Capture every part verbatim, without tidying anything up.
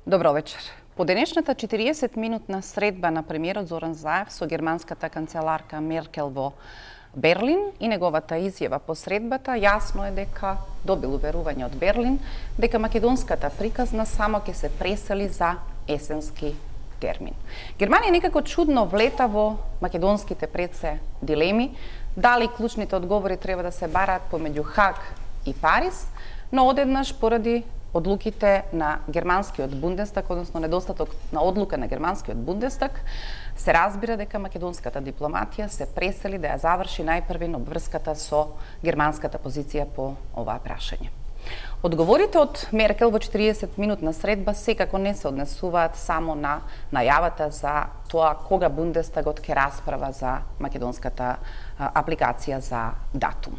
Добро вечер. По денешната четириесет минутна средба на премиерот Зоран Заев со германската канцеларка Меркел во Берлин и неговата изјава по средбата, јасно е дека добил уверување од Берлин дека македонската приказна само ќе се пресели за есенски термин. Германија некако чудно влета во македонските пред се дилеми, дали клучните одговори треба да се бараат помеѓу Хаг и Париз, но одеднаш поради одлуките на германскиот Бундестаг, односно недостаток на одлука на германскиот Бундестаг, се разбира дека македонската дипломатија се пресели да ја заврши најпрвен обврската со германската позиција по оваа прашање. Одговорите од Меркел во четириесет минутна средба секако не се однесуваат само на најавата за тоа кога Бундестагот ќе расправа за македонската апликација за датум.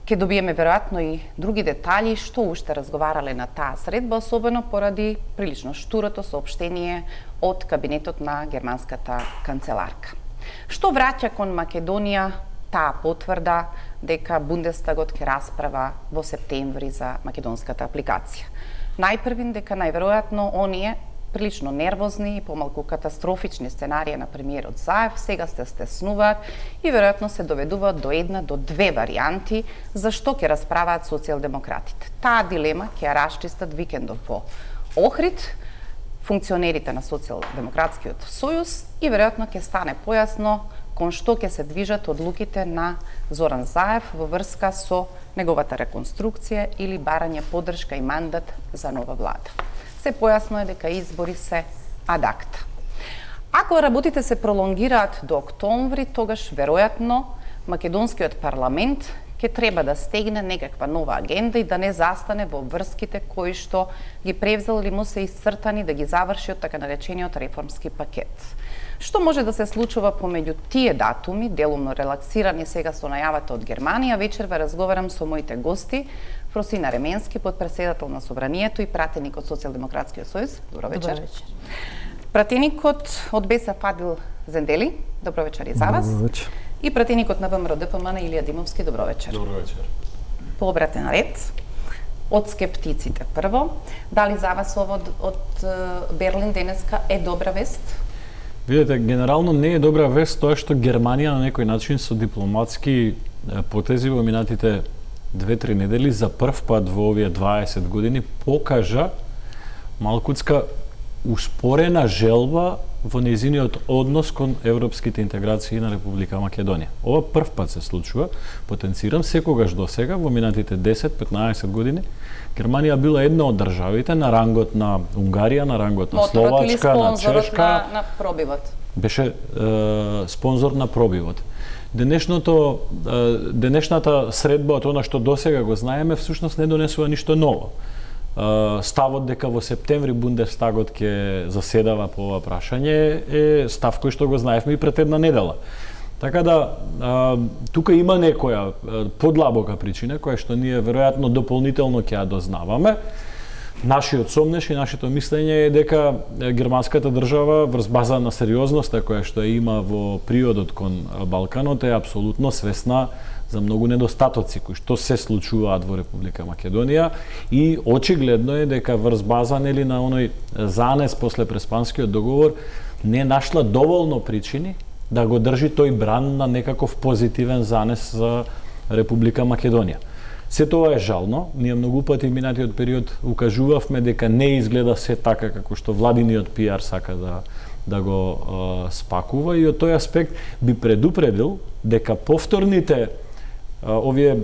Ке добиеме веројатно и други детали што уште разговарале на таа средба, особено поради прилично штурото соопштение од кабинетот на германската канцеларка. Што враќа кон Македонија таа потврда дека Бундестагот ќе расправа во септември за македонската апликација? Најпрвин дека најверојатно оние прилично нервозни и помалку катастрофични сценарија на премиерот Заев сега се стеснуваат и веројатно се доведуваат до една до две варијанти за што ќе расправаат социјалдемократите. Таа дилема ќе ја расчистат викендов во Охрид функционерите на Социјалдемократскиот сојуз и веројатно ќе стане појасно кон што ќе се движат одлуките на Зоран Заев во врска со неговата реконструкција или барање поддршка и мандат за нова влада. Се појасно е дека избори се ад акта. Ако работите се пролонгираат до октомври, тогаш веројатно македонскиот парламент ќе треба да стегне некаква нова агенда и да не застане во врските кои што ги превзел или му се исцртани да ги заврши од така наречениот реформски пакет. Што може да се случува помеѓу тие датуми, делумно релаксирани сега со најавата од Германија, вечерва разговарам со моите гости, Фросина Ременски, подпредседател на Собранието и пратеник од Социјалдемократскиот сојуз. Добро вечер. Добро вечер. Пратеникот од БЕСА Фадил Зендели. Добро вечер и за вас. Добро вечер. И пратеникот на ВМРО ДПМН Илија Димовски. Добро вечер. Добро вечер. По обратен ред, од скептиците прво, дали за вас ово од, од Берлин денеска е добра вест? Видете, генерално не е добра вест тоа што Германија на некој начин со дипломатски потези во минатите две-три недели за прв пат во овие дваесет години покажа малкуцка успорена желба во нејзиниот однос кон европските интеграции на Република Македонија. Ова прв пат се случува, потенцирам, секогаш до сега во минатите десет-петнаесет години Германија била една од државите на рангот на Унгарија, на рангот на Словачка, на Чешка, на, на пробивот. Беше е, спонзор на пробивот. Денешното денешната средба од она што досега го знаеме всушност не донесува ништо ново. Ставот дека во септември Бундестагот ќе заседава по ова прашање е став кој што го знаевме и пред една недела. Така да тука има некоја подлабока причина која што ние веројатно дополнително ќе ја дознаваме. Нашиот сомнеш и нашето мислење е дека германската држава врз база на сериозноста која што ја има во приодот кон Балканот е апсолутно свесна за многу недостатоци кои што се случуваат во Република Македонија и очигледно е дека врз база нели на оној занес после Преспанскиот договор не нашла доволно причини да го држи тој бран на некаков позитивен занес за Република Македонија. Се тоа е жално, ние многу пати в минатиот период укажувавме дека не изгледа се така како што владиниот пиар сака да да го е, спакува и од тој аспект би предупредил дека повторните овие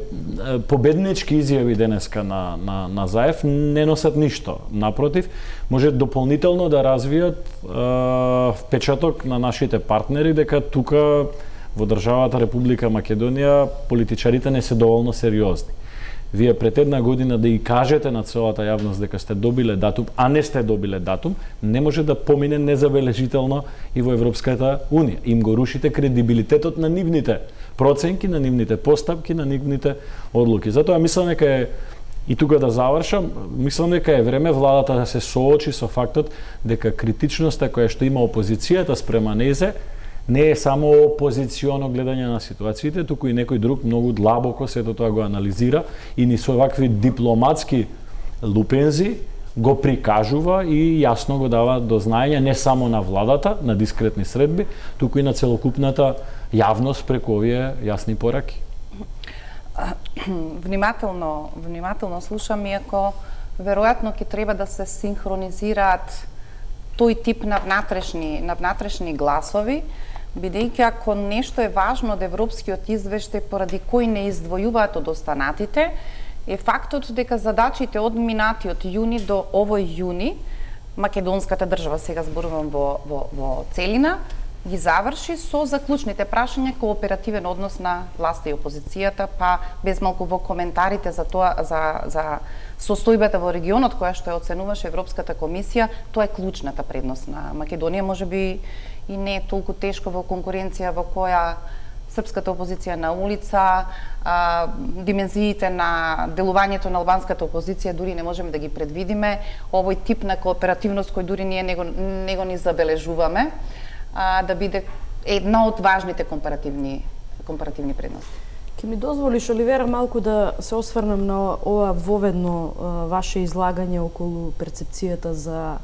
победнички изјави денеска на, на, на Заев не носат ништо. Напротив, може дополнително да развијат е, впечаток на нашите партнери дека тука во државата Република Македонија политичарите не се доволно сериозни. Вие пред една година да и кажете на целата јавност дека сте добиле датум, а не сте добиле датум, не може да помине незабележително и во Европската Унија. Им го рушите кредибилитетот на нивните проценки, на нивните постапки, на нивните одлуки. Затоа мислам дека е, и тука да завршам, мислам дека е време владата да се соочи со фактот дека критичноста која што има опозицијата спрема незе не е само опозиционо гледање на ситуациите, туку и некој друг многу длабоко сето тоа го анализира и ни со вакви дипломатски лупензи го прикажува и јасно го дава до знаење не само на владата, на дискретни средби, туку и на целокупната јавност преку овие јасни пораки. Внимателно, внимателно слушам, иако веројатно ќе треба да се синхронизираат тој тип на внатрешни, на внатрешни гласови, бидејќи ако нешто е важно од европскиот извештај поради кој не издвојуваат од останатите, е фактот дека задачите од минатиот јуни до овој јуни, македонската држава, сега зборувам во, во, во целина, ги заврши со заклучните прашања кооперативен однос на власта и опозицијата, па без малку во коментарите за тоа, за, за состојбата во регионот која што ја оценуваше Европската комисија, тоа е клучната предност на Македонија, можеби и не е толку тешко во конкуренција во која српската опозиција на улица, а, димензиите на делувањето на албанската опозиција дури не можеме да ги предвидиме, овој тип на кооперативност кој дури ние него, него ни забележуваме, а, да биде една од важните компаративни компаративни предности. Ке ми дозволиш, Оливера, малку да се осврнам на ова воведно а, ваше излагање околу перцепцијата за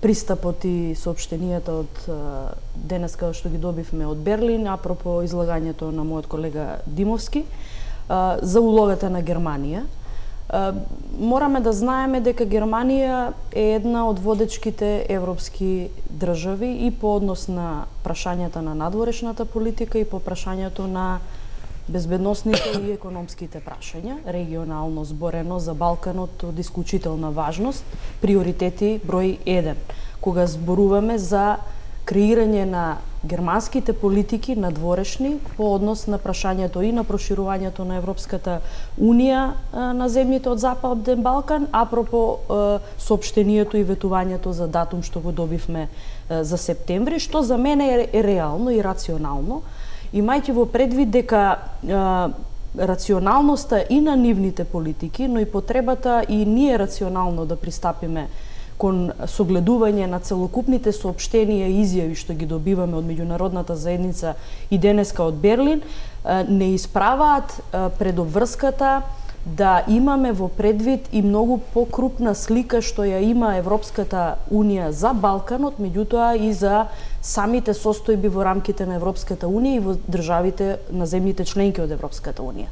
пристапот и соопштенијата од а, денеска што ги добивме од Берлин, апропо излагањето на мојот колега Димовски, а, за улогата на Германија. А, мораме да знаеме дека Германија е една од водечките европски држави и по однос на прашањата на надворешната политика и по прашањето на безбедносните и економските прашања, регионално зборено за Балканот од исклучителна важност, приоритети број еден. Кога зборуваме за креирање на германските политики надворешни по однос на прашањето и на проширувањето на Европската Унија на земјите од Западен Балкан, апропо соопштението и ветувањето за датум што го добивме за септември, што за мене е реално и рационално, имајќи во предвид дека а, рационалноста и на нивните политики, но и потребата и ние рационално да пристапиме кон согледување на целокупните соопштенија и изјави што ги добиваме од меѓународната заедница и денеска од Берлин, а, не исправаат а, предобврската да имаме во предвид и многу покрупна слика што ја има Европската Унија за Балканот, меѓутоа и за самите состојби во рамките на Европската Унија и во државите на земјите членки од Европската Унија.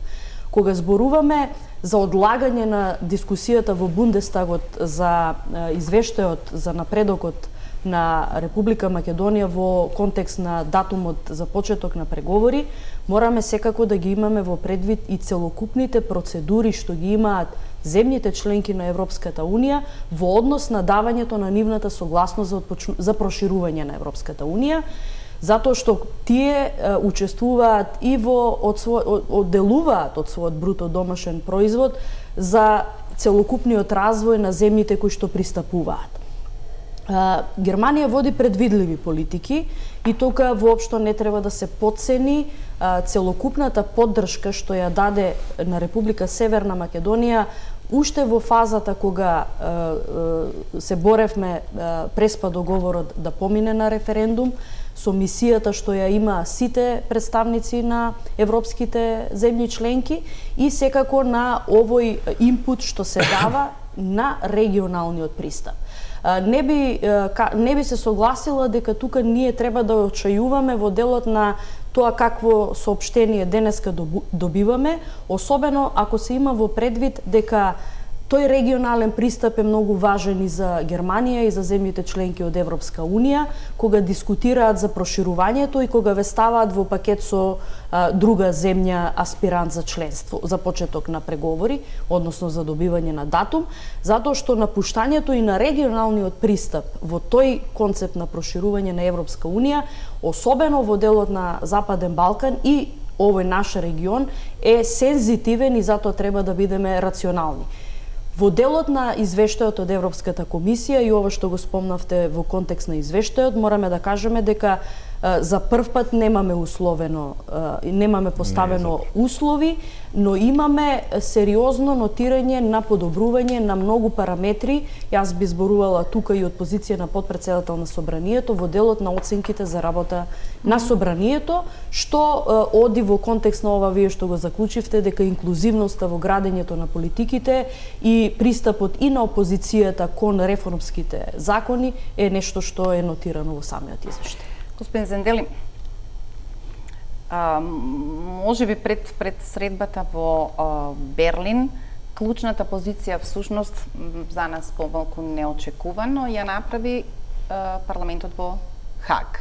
Кога зборуваме за одлагање на дискусијата во Бундестагот за извештајот за напредокот на Република Македонија во контекст на датумот за почеток на преговори, мораме секако да ги имаме во предвид и целокупните процедури што ги имаат земјите членки на Европската Унија во однос на давањето на нивната согласност за, отпочну... за проширување на Европската Унија, затоа што тие е, учествуваат и во од свој, одделуваат од својот бруто домашен производ за целокупниот развој на земјите кои што пристапуваат. Германија води предвидливи политики и тука воопшто не треба да се потцени целокупната поддршка што ја даде на Република Северна Македонија уште во фазата кога се боревме преспа договорот да помине на референдум, со мисијата што ја има сите представници на европските земји членки и секако на овој импут што се дава на регионалниот пристап. Не би, не би се согласила дека тука ние треба да очајуваме во делот на тоа какво соопштение денеска добиваме, особено ако се има во предвид дека тој регионален пристап е многу важен и за Германија и за земјите членки од Европска Унија, кога дискутираат за проширувањето и кога ве ставаат во пакет со а, друга земја аспирант за членство, за почеток на преговори, односно за добивање на датум, затоа што напуштањето и на регионалниот пристап во тој концепт на проширување на Европска Унија, особено во делот на Западен Балкан и овој наш регион, е сензитивен и затоа треба да бидеме рационални. Во делот на извештајот од Европската комисија и ова што го спомнавте во контекст на извештајот, мораме да кажеме дека За прв пат немаме условено, немаме поставено не, услови, но имаме сериозно нотирање на подобрување на многу параметри. Јас би зборувала тука и од позиција на потпредседател на Собранието во делот на оценките за работа на Собранието, што оди во контекст на ова вие што го заклучивте, дека инклузивноста во градењето на политиките и пристапот и на опозицијата кон реформските закони е нешто што е нотирано во самиот извештај. Господин Зендели, а, може би пред, пред средбата во а, Берлин, клучната позиција всушност за нас помалку неочекувано ја направи а, парламентот во Хаг.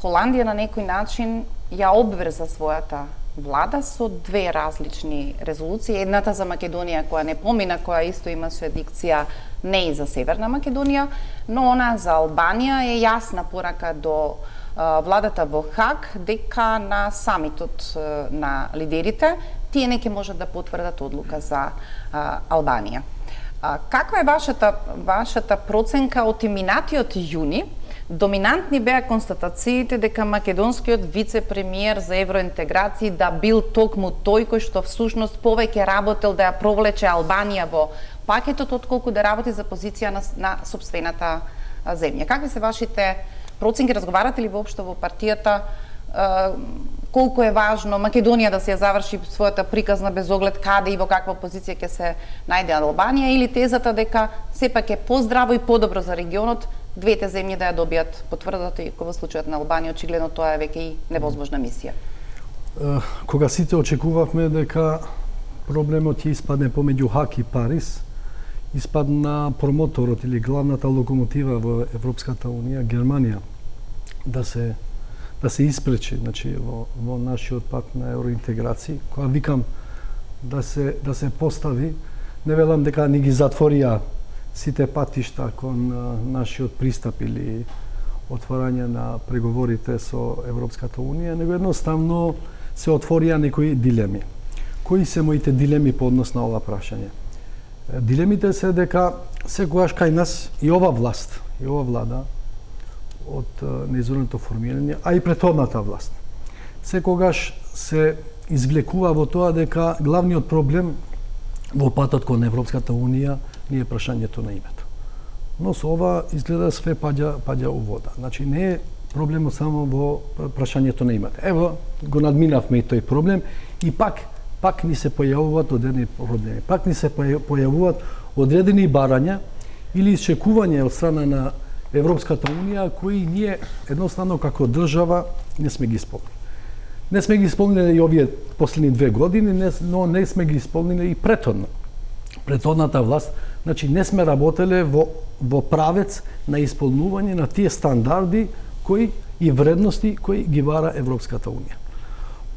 Холандија на некој начин ја обврза својата влада со две различни резолуции. Едната за Македонија која не помина, која исто има юрисдикција не и за Северна Македонија, но она за Албанија е јасна порака до а, владата во Хаг дека на самитот а, на лидерите тие не ќе можат да потврдат одлука за а, Албанија. А, каква е вашата вашата проценка од минатиот јуни? Доминантни беа констатациите дека македонскиот вице-премиер за евроинтеграција да бил токму тој кој што всушност повеќе работел да ја провлече Албанија во пакетот отколку да работи за позиција на, на сопствената земја. Какви се вашите проценки? Разговарате ли воопшто во партијата колку е важно Македонија да се ја заврши својата приказна без оглед каде и во каква позиција ќе се најде Албанија, или тезата дека сепак е поздраво и подобро за регионот двете земји да ја добијат потврдата, и во случајот на Албанија очигледно тоа е веќе и невозможна мисија? Кога сите очекувавме дека проблемот ќе испадне помеѓу Хаг и Париз, испадна промоторот или главната локомотива во Европската унија, Германија, да се да се испречи, значи во, во нашиот пат на евроинтеграција, кога викам да се да се постави, не велам дека ни ги затворија сите патишта кон нашиот пристап или отворање на преговорите со Европската унија, него едноставно се отворија некои дилеми. Кои се моите дилеми по однос на ова прашање? Дилемите се дека секогаш кај нас и ова власт, и ова влада од неизворното формирање, а и претходната власт, секогаш се извлекува во тоа дека главниот проблем во патот кон Европската унија не е прашањето на името. Но со ова изгледа све паѓа паѓа у вода. Значи не е проблемот само во прашањето на името. Ево го надминавме и тој проблем и пак пак ни се појавуваат одредени проблеми. Пак ни се појавуваат одредени барања или исчекување од страна на Европската унија кои ние едноставно како држава не сме ги исполнили. Не сме ги исполнили и овие последни две години, но не сме ги исполнили и претходно. Претходната власт, значи не сме работеле во во правец на исполнување на тие стандарди кои и вредности кои ги бара Европската унија.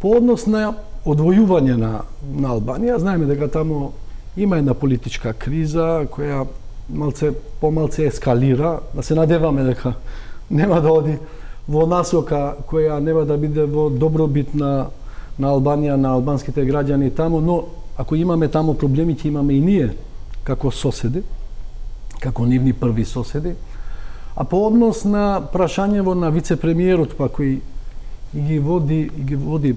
По однос на одвојување на на Албанија, знаеме дека таму има една политичка криза која малце помалце ескалира, да се надеваме дека нема да оди во насока која нема да биде во добробит на на Албанија, на албанските граѓани таму, но ако имаме таму проблеми, ќе имаме и ние како соседи, како нивни први соседи. А по однос на прашањево на вице-премиерот, па кој ги води и ги води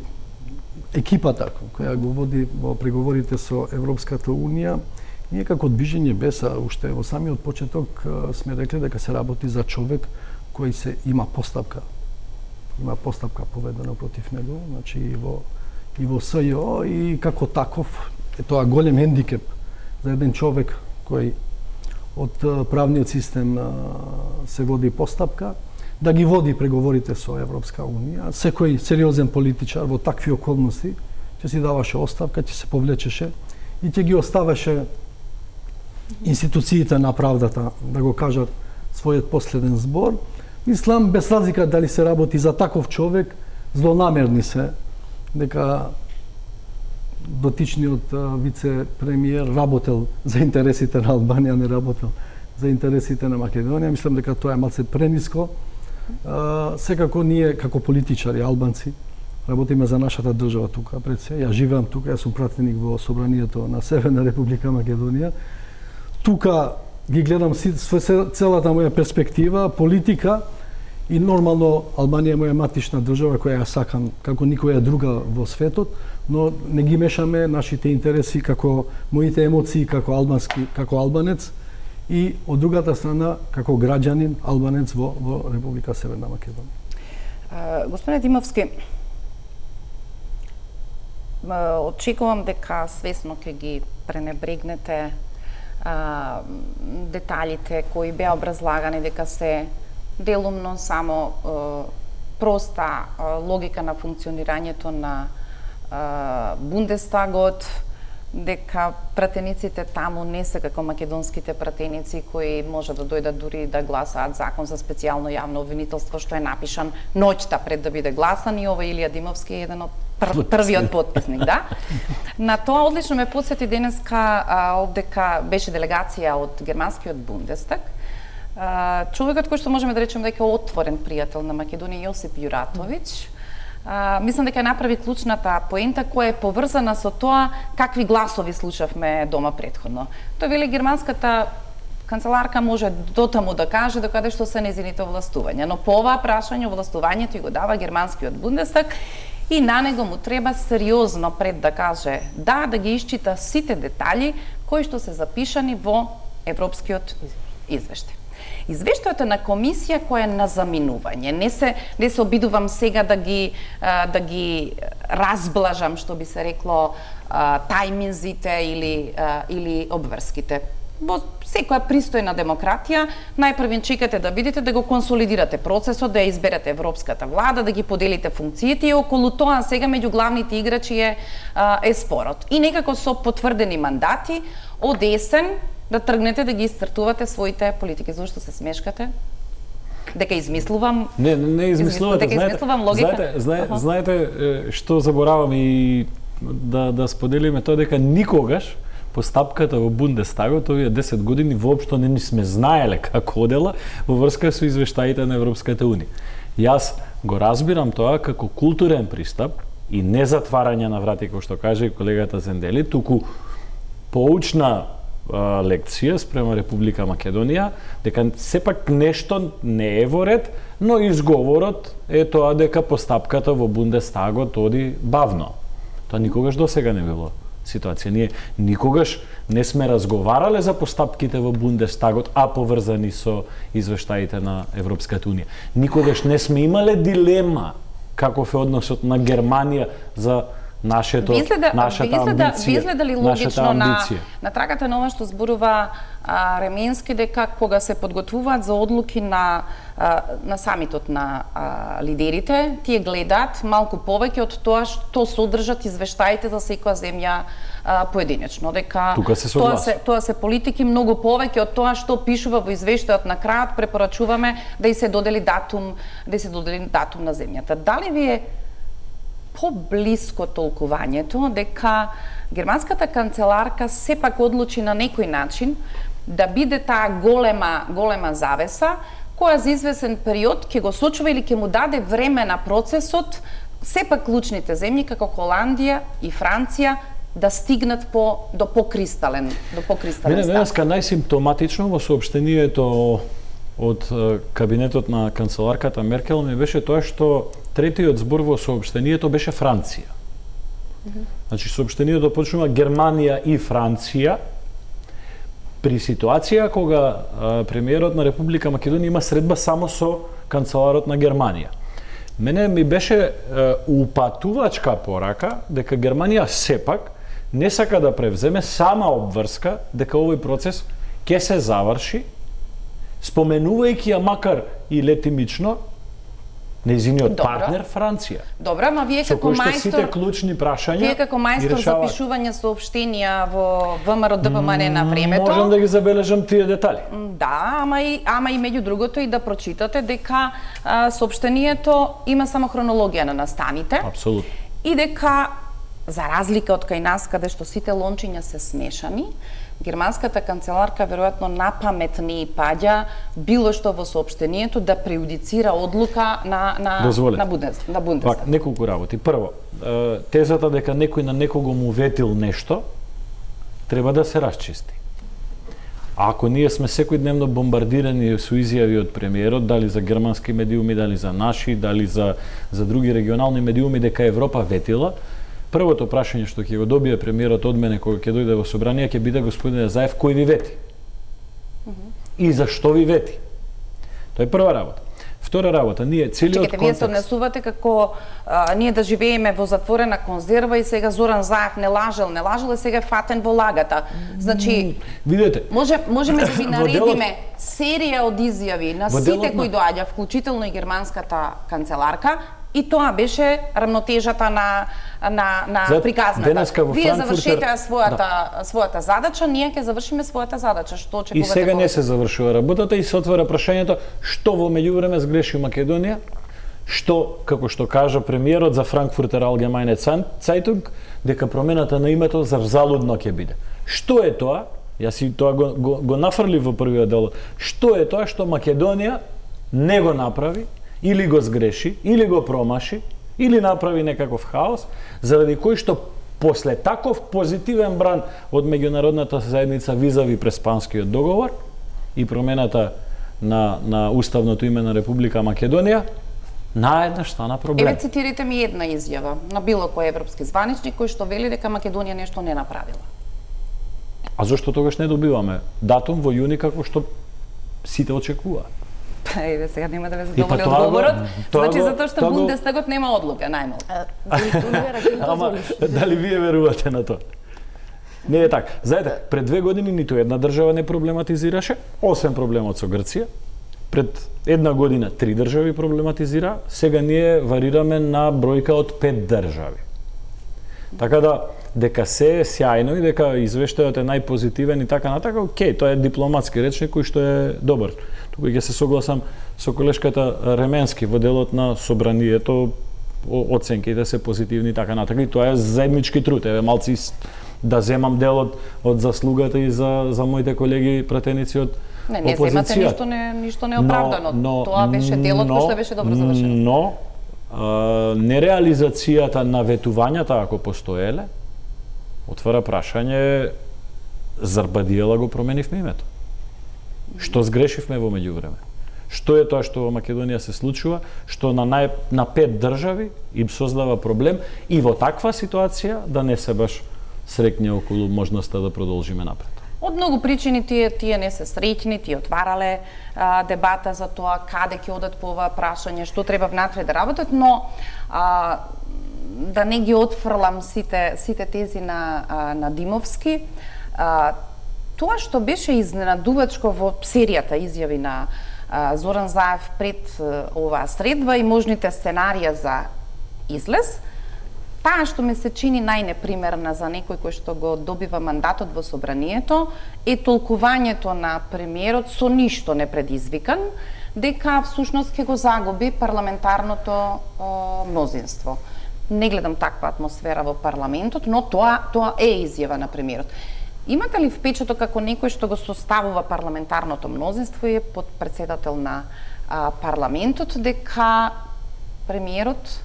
екипата која го води во преговорите со Европската унија, ние како движење Беса уште во самиот почеток сме рекли дека се работи за човек кој се има постапка. Има постапка поведена против него, значи и во и во СЈО, и како таков е тоа голем хендикеп за еден човек кој од правниот систем се води постапка, да ги води преговорите со Европска унија. Секој сериозен политичар во такви околности ќе си даваше оставка, ќе се повлечеше и ќе ги оставаше институциите на правдата да го кажат својот последен збор. Мислам, без разлика дали се работи за таков човек, злонамерни се дека дотичниот вице-премиер работел за интересите на Албанија, не работел за интересите на Македонија. Мислам дека тоа е малце прениско. Секако ние како политичари албанци работиме за нашата држава тука пред се. Ја живеам тука, јас сум пратеник во Собранието на Северна Република Македонија. Тука ги гледам целата моја перспектива, политика И нормално Албанија е моја матична држава која ја сакам како никоја друга во светот, но не ги мешаме нашите интереси како моите емоции како албански, како албанец и од другата страна како граѓанин албанец во во Република Северна Македонија. Uh, Господине Димовски, очекувам дека свесно ќе ги пренебрегнете а, деталите кои беа образлагани, дека се делумно само а, проста а, логика на функционирањето на а, Бундестагот, дека пратениците таму не се како македонските пратеници кои може да дојдат дури да гласаат закон за специјално јавно обвинителство што е напишан ноќта пред да биде гласан, и ова Илија Димовски е еден од пр првиот потписник, да. На тоа одлично ме потсети денеска а, овдека беше делегација од германскиот Бундестаг. А, човекот кој што можеме да речеме дека е отворен пријател на Македонија, Јосип Јуратовиќ, Uh, мислам дека направи клучната поента која е поврзана со тоа какви гласови слушавме дома претходно. Тој вели германската канцеларка може дотаму да каже докаде што се незините овластувања, но по оваа прашање овластувањето и го дава германскиот Бундестаг и на него му треба сериозно пред да каже да, да ги исчита сите детали кои што се запишани во европскиот извештај. Извештајот е на комисија која е на заминување. Не се не се обидувам сега да ги да ги разблажам, што би се рекло, тајминзите или или обврските. Во секоја пристојна демократија најпрвен чекате да видите да го консолидирате процесот, да ја изберете европската влада, да ги поделите функциите и околу тоа сега меѓу главните играчи е е спорот. И некако со потврдени мандати од есен да тргнете да ги истртувате своите политики. Зошто се смешкате? Дека измислувам? Не, не, не измислувате. Дека измислувам логика? Знаете, знаете, знаете што заборавам и да, да споделиме тоа, дека никогаш постапката во Бундестагот овие десет години воопшто не ни сме знаеле како одела во врска со извештаите на Европската унија. Јас го разбирам тоа како културен пристап и не затварање на врати, како што каже и колегата Зендели, туку поучна лекција спрема Република Македонија, дека сепак нешто не е во ред, но изговорот е тоа дека постапката во Бундестагот оди бавно. Тоа никогаш досега не било ситуација. Ние никогаш не сме разговарале за постапките во Бундестагот, а поврзани со извештаите на Европската унија. Никогаш не сме имале дилема каков е односот на Германија за нашето изгледа, нашата изгледа, амбиција. Изгледа ли логично на на трагата на ова што зборува а, Ременски, дека кога се подготвуваат за одлуки на а, на самитот на а, лидерите, тие гледаат малку повеќе од тоа што содржат извештаите за секоја земја а, поединечно, дека Тука се тоа се тоа се политики многу повеќе од тоа што пишува во извештајот. На крајот препорачуваме да и се додели датум, да и се додели датум на земјата. Дали ви е поблиско толкувањето дека германската канцеларка сепак одлучи на некој начин да биде таа голема голема завеса која за извесен период ќе го сочува или ќе му даде време на процесот сепак клучните земји како Холандија и Франција да стигнат по до покристален до покристален Мене став. денеска најсимптоматично во соопштението од кабинетот на канцеларката Меркел ми беше тоа што третиот збор во соопштението беше Франција. Mm -hmm. Значи соопштението почнува Германија и Франција при ситуација кога а, премиерот на Република Македонија има средба само со канцеларот на Германија. Мене ми беше а, упатувачка порака дека Германија сепак не сака да превземе сама обврска дека овој процес ќе се заврши, споменувајќи ја макар и летимично нејзиниот партнер Франција. Добро, ама вие како мајстор сите клучни прашања Вие како мајстор за пишување соопштенија во ВМРО ДПМН на времето. Можам да ги забележам тие детали. Да, ама и ама и меѓу другото и да прочитате дека а, соопштението има само хронологија на настаните. Апсолутно. И дека за разлика од кај нас каде што сите лончиња се смешани, германската канцеларка веројатно напамет не паѓа било што во соопштението да преюдицира одлука на на Дозволете. на Бундестаг. На Бундестаг. Пак неколку работи. Прво, тезата дека некој на некого му ветил нешто треба да се расчисти. А ако ние сме секојдневно бомбардирани со изјави од премиерот, дали за германски медиуми, дали за наши, дали за за други регионални медиуми дека Европа ветила, првото прашање што ќе го добие премиерот од мене кога ќе дојде во собрание ќе биде: господине Заев, кој ви вети? Mm -hmm. И зашто ви вети? Тоа е прва работа. Втора работа, ние целиот контекст... Чекайте, вие се однесувате како а, ние да живееме во затворена конзерва и сега Зоран Заев не лажел, не лажел и сега е фатен во лагата. Значи, видете, може можеме да ви наредиме делот... серија од изјави на во сите делот... кои доаѓа, вклучително и германската канцеларка, и тоа беше рамнотежата на на на Зад, приказната. Вие Франкфуртер... завршете својата да. својата задача, ние ќе завршиме својата задача. Што очекувате? И сега не се завршува работата и се отвора прашањето што во меѓувреме сгреши Македонија, што, како што кажа премиерот за Франкфуртер Allgemeine Zeitung, дека промената на името за залудно ќе биде. Што е тоа? Јас и тоа го, го, го нафрлив во првиот дел. Што е тоа што Македонија не го направи, или го сгреши, или го промаши, или направи некаков хаос, заради кој што после таков позитивен бран од меѓународната заедница визави Преспанскиот договор и промената на, на уставното име на Република Македонија, наеднаш стана проблем. Еве цитирайте ми една изјава на било кој европски званичник кој што вели дека Македонија нешто не направила. А зошто тогаш не добиваме датум во јуни како што сите очекуваат? Еве сега нема да ве задоволи одговорот. Значи го, затоа што Бундестагот го... нема одлука, најмалку. Ама дали вие верувате на тоа? Не е така. Знаете, пред две години ниту една држава не проблематизираше, освен проблемот со Грција. Пред една година три држави проблематизира, сега ние варираме на бројка од пет држави. Така да, дека се е сјајно и дека извештајот е најпозитивен и така натака, окей, тоа е дипломатски речник кој што е добар. Тука ќе се согласам со колешката Ременски во делот на собранието, оценките се позитивни и така натака. И тоа е заеднички труд. Еве малци да земам дел од, од заслугата и за за моите колеги пратеници од Не, не земате ништо не ништо неоправдано. Но, но, тоа беше делот кој што беше добро завршено. Но а, нереализацијата на ветувањата ако постоеле отвара прашање зар Бадиела го променивме името? Што сгрешивме во меѓувреме? Што е тоа што во Македонија се случува, што на нај, на пет држави им создава проблем и во таква ситуација да не се баш среќни околу можноста да продолжиме напред. Од многу причини тие тие не се среќни, тие отварале а, дебата за тоа каде ќе одат по ова прашање, што треба внатре да работат, но а, да не ги отфрлам сите сите тези на а, на Димовски, а, тоа што беше изненадувачко во серијата изјави на а, Зоран Заев пред а, оваа средба и можните сценарија за излез, таа што ми се чини најнепримерна за некој кој што го добива мандатот во собранието е толкувањето на премиерот со ништо не предизвикан, дека всушност ќе го загуби парламентарното о, мнозинство. Не гледам таква атмосфера во парламентот, но тоа тоа е изјава на премиерот. Имате ли впечаток како некој што го составува парламентарното мнозинство и е подпредседател на а, парламентот дека премиерот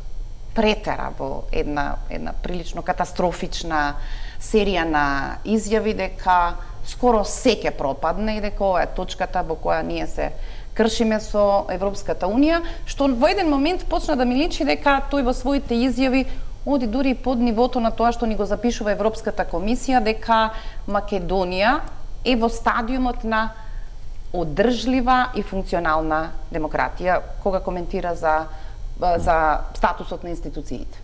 претера во една една прилично катастрофична серија на изјави дека скоро се ќе пропадне и дека ова е точката во која ние се кршиме со Европската унија, што во еден момент почна да ми личи дека тој во своите изјави оди дури и под нивото на тоа што ни го запишува Европската комисија, дека Македонија е во стадиумот на одржлива и функционална демократија, кога коментира за за статусот на институциите.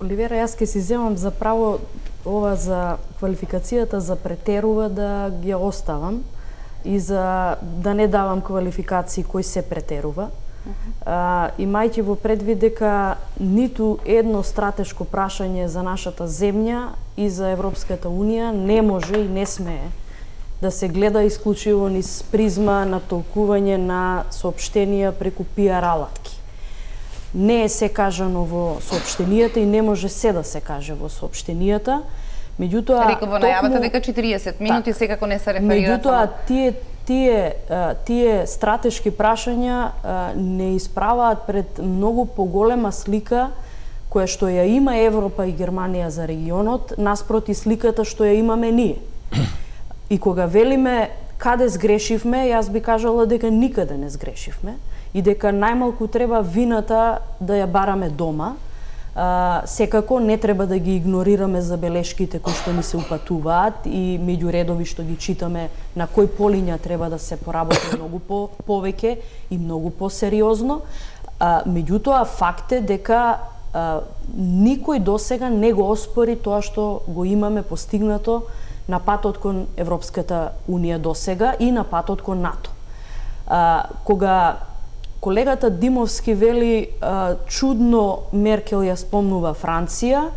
Оливера, јас ке си земам за право ова за квалификацијата за претерува да ги оставам и за да не давам квалификации кој се претерува. Uh -huh. а, имајќи во предвид дека ниту едно стратешко прашање за нашата земја и за Европската унија не може и не смее да се гледа исклучиво низ призма на толкување на соопштенија преку пиар алатки. Не е се кажано во соопштенијата и не може се да се каже во соопштенијата. Меѓутоа, реков во најавата дека четириесет минути секако не се реферира. Меѓутоа, тие тие тие стратешки прашања не исправаат пред многу поголема слика која што ја има Европа и Германија за регионот, наспроти сликата што ја имаме ние. И кога велиме каде сгрешивме, јас би кажала дека никаде не сгрешивме и дека најмалку треба вината да ја бараме дома. А, секако не треба да ги игнорираме забелешките кои што ни се упатуваат и меѓу редови што ги читаме на кој полиња треба да се поработи многу по повеќе и многу посериозно. А, меѓутоа факт е дека а, никој досега не го оспори тоа што го имаме постигнато на патот кон Европската Унија досега и на патот кон НАТО. А, кога колегата Димовски вели а, чудно Меркел ја спомнува Франција,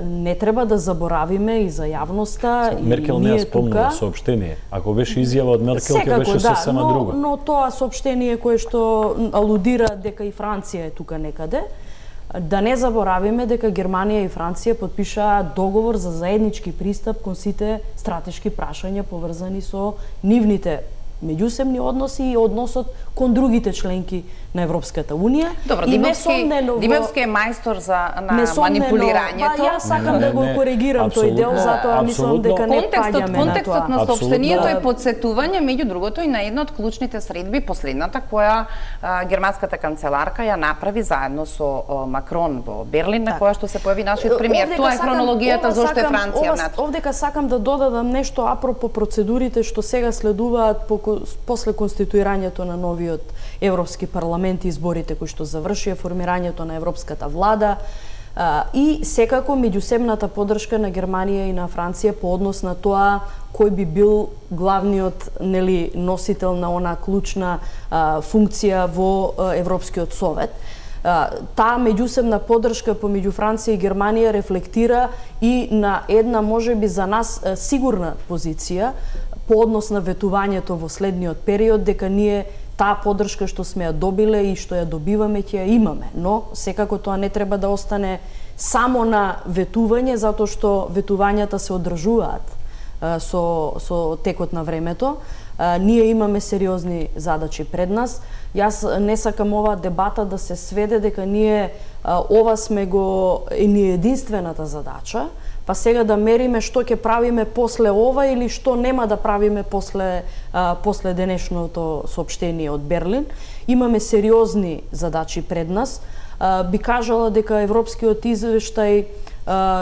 не треба да заборавиме и за јавноста и Меркел не ја спомнува тука. соопштение. Ако беше изјава од Меркел, ќе беше да, сосема но, друга. но тоа соопштение кое што алудира дека и Франција е тука некаде, да не заборавиме дека Германија и Франција подпишаа договор за заеднички пристап кон сите стратешки прашања поврзани со нивните меѓусебни односи и односот кон другите членки на Европската Унија. Добро, и Димовски, во... Димовски е мајстор за на несомнено, манипулирањето. Па јас сакам Не, не, да го не, коригирам тој дел, затоа мислам дека не Контекстот, паѓаме на контекстот тоа. на соопштението е Апсолутно. подсетување меѓу другото и на една од клучните средби, последната која а, германската канцеларка ја направи заедно со а, Макрон во Берлин, на која што се појави нашиот премиер. Тоа е хронологијата зошто е Франција внатре. Овдека сакам да додадам нешто апропо процедурите што сега следуваат по, после конституирањето на новиот Европски парламент и изборите кои што завршија, формирањето на Европската влада а, и секако меѓусебната поддршка на Германија и на Франција по однос на тоа кој би бил главниот нели носител на она клучна а, функција во а, Европскиот совет. Таа меѓусебна поддршка помеѓу Франција и Германија рефлектира и на една можеби за нас сигурна позиција по однос на ветувањето во следниот период, дека ние таа поддршка што сме ја добиле и што ја добиваме ќе ја имаме, но секако тоа не треба да остане само на ветување, затоа што ветувањата се одржуваат со со текот на времето. А, ние имаме сериозни задачи пред нас. Јас не сакам оваа дебата да се сведе дека ние а, ова сме го е ни единствената задача, па сега да мериме што ќе правиме после ова или што нема да правиме после а, после денешното соопштение од Берлин. Имаме сериозни задачи пред нас. А, би кажала дека европскиот извештај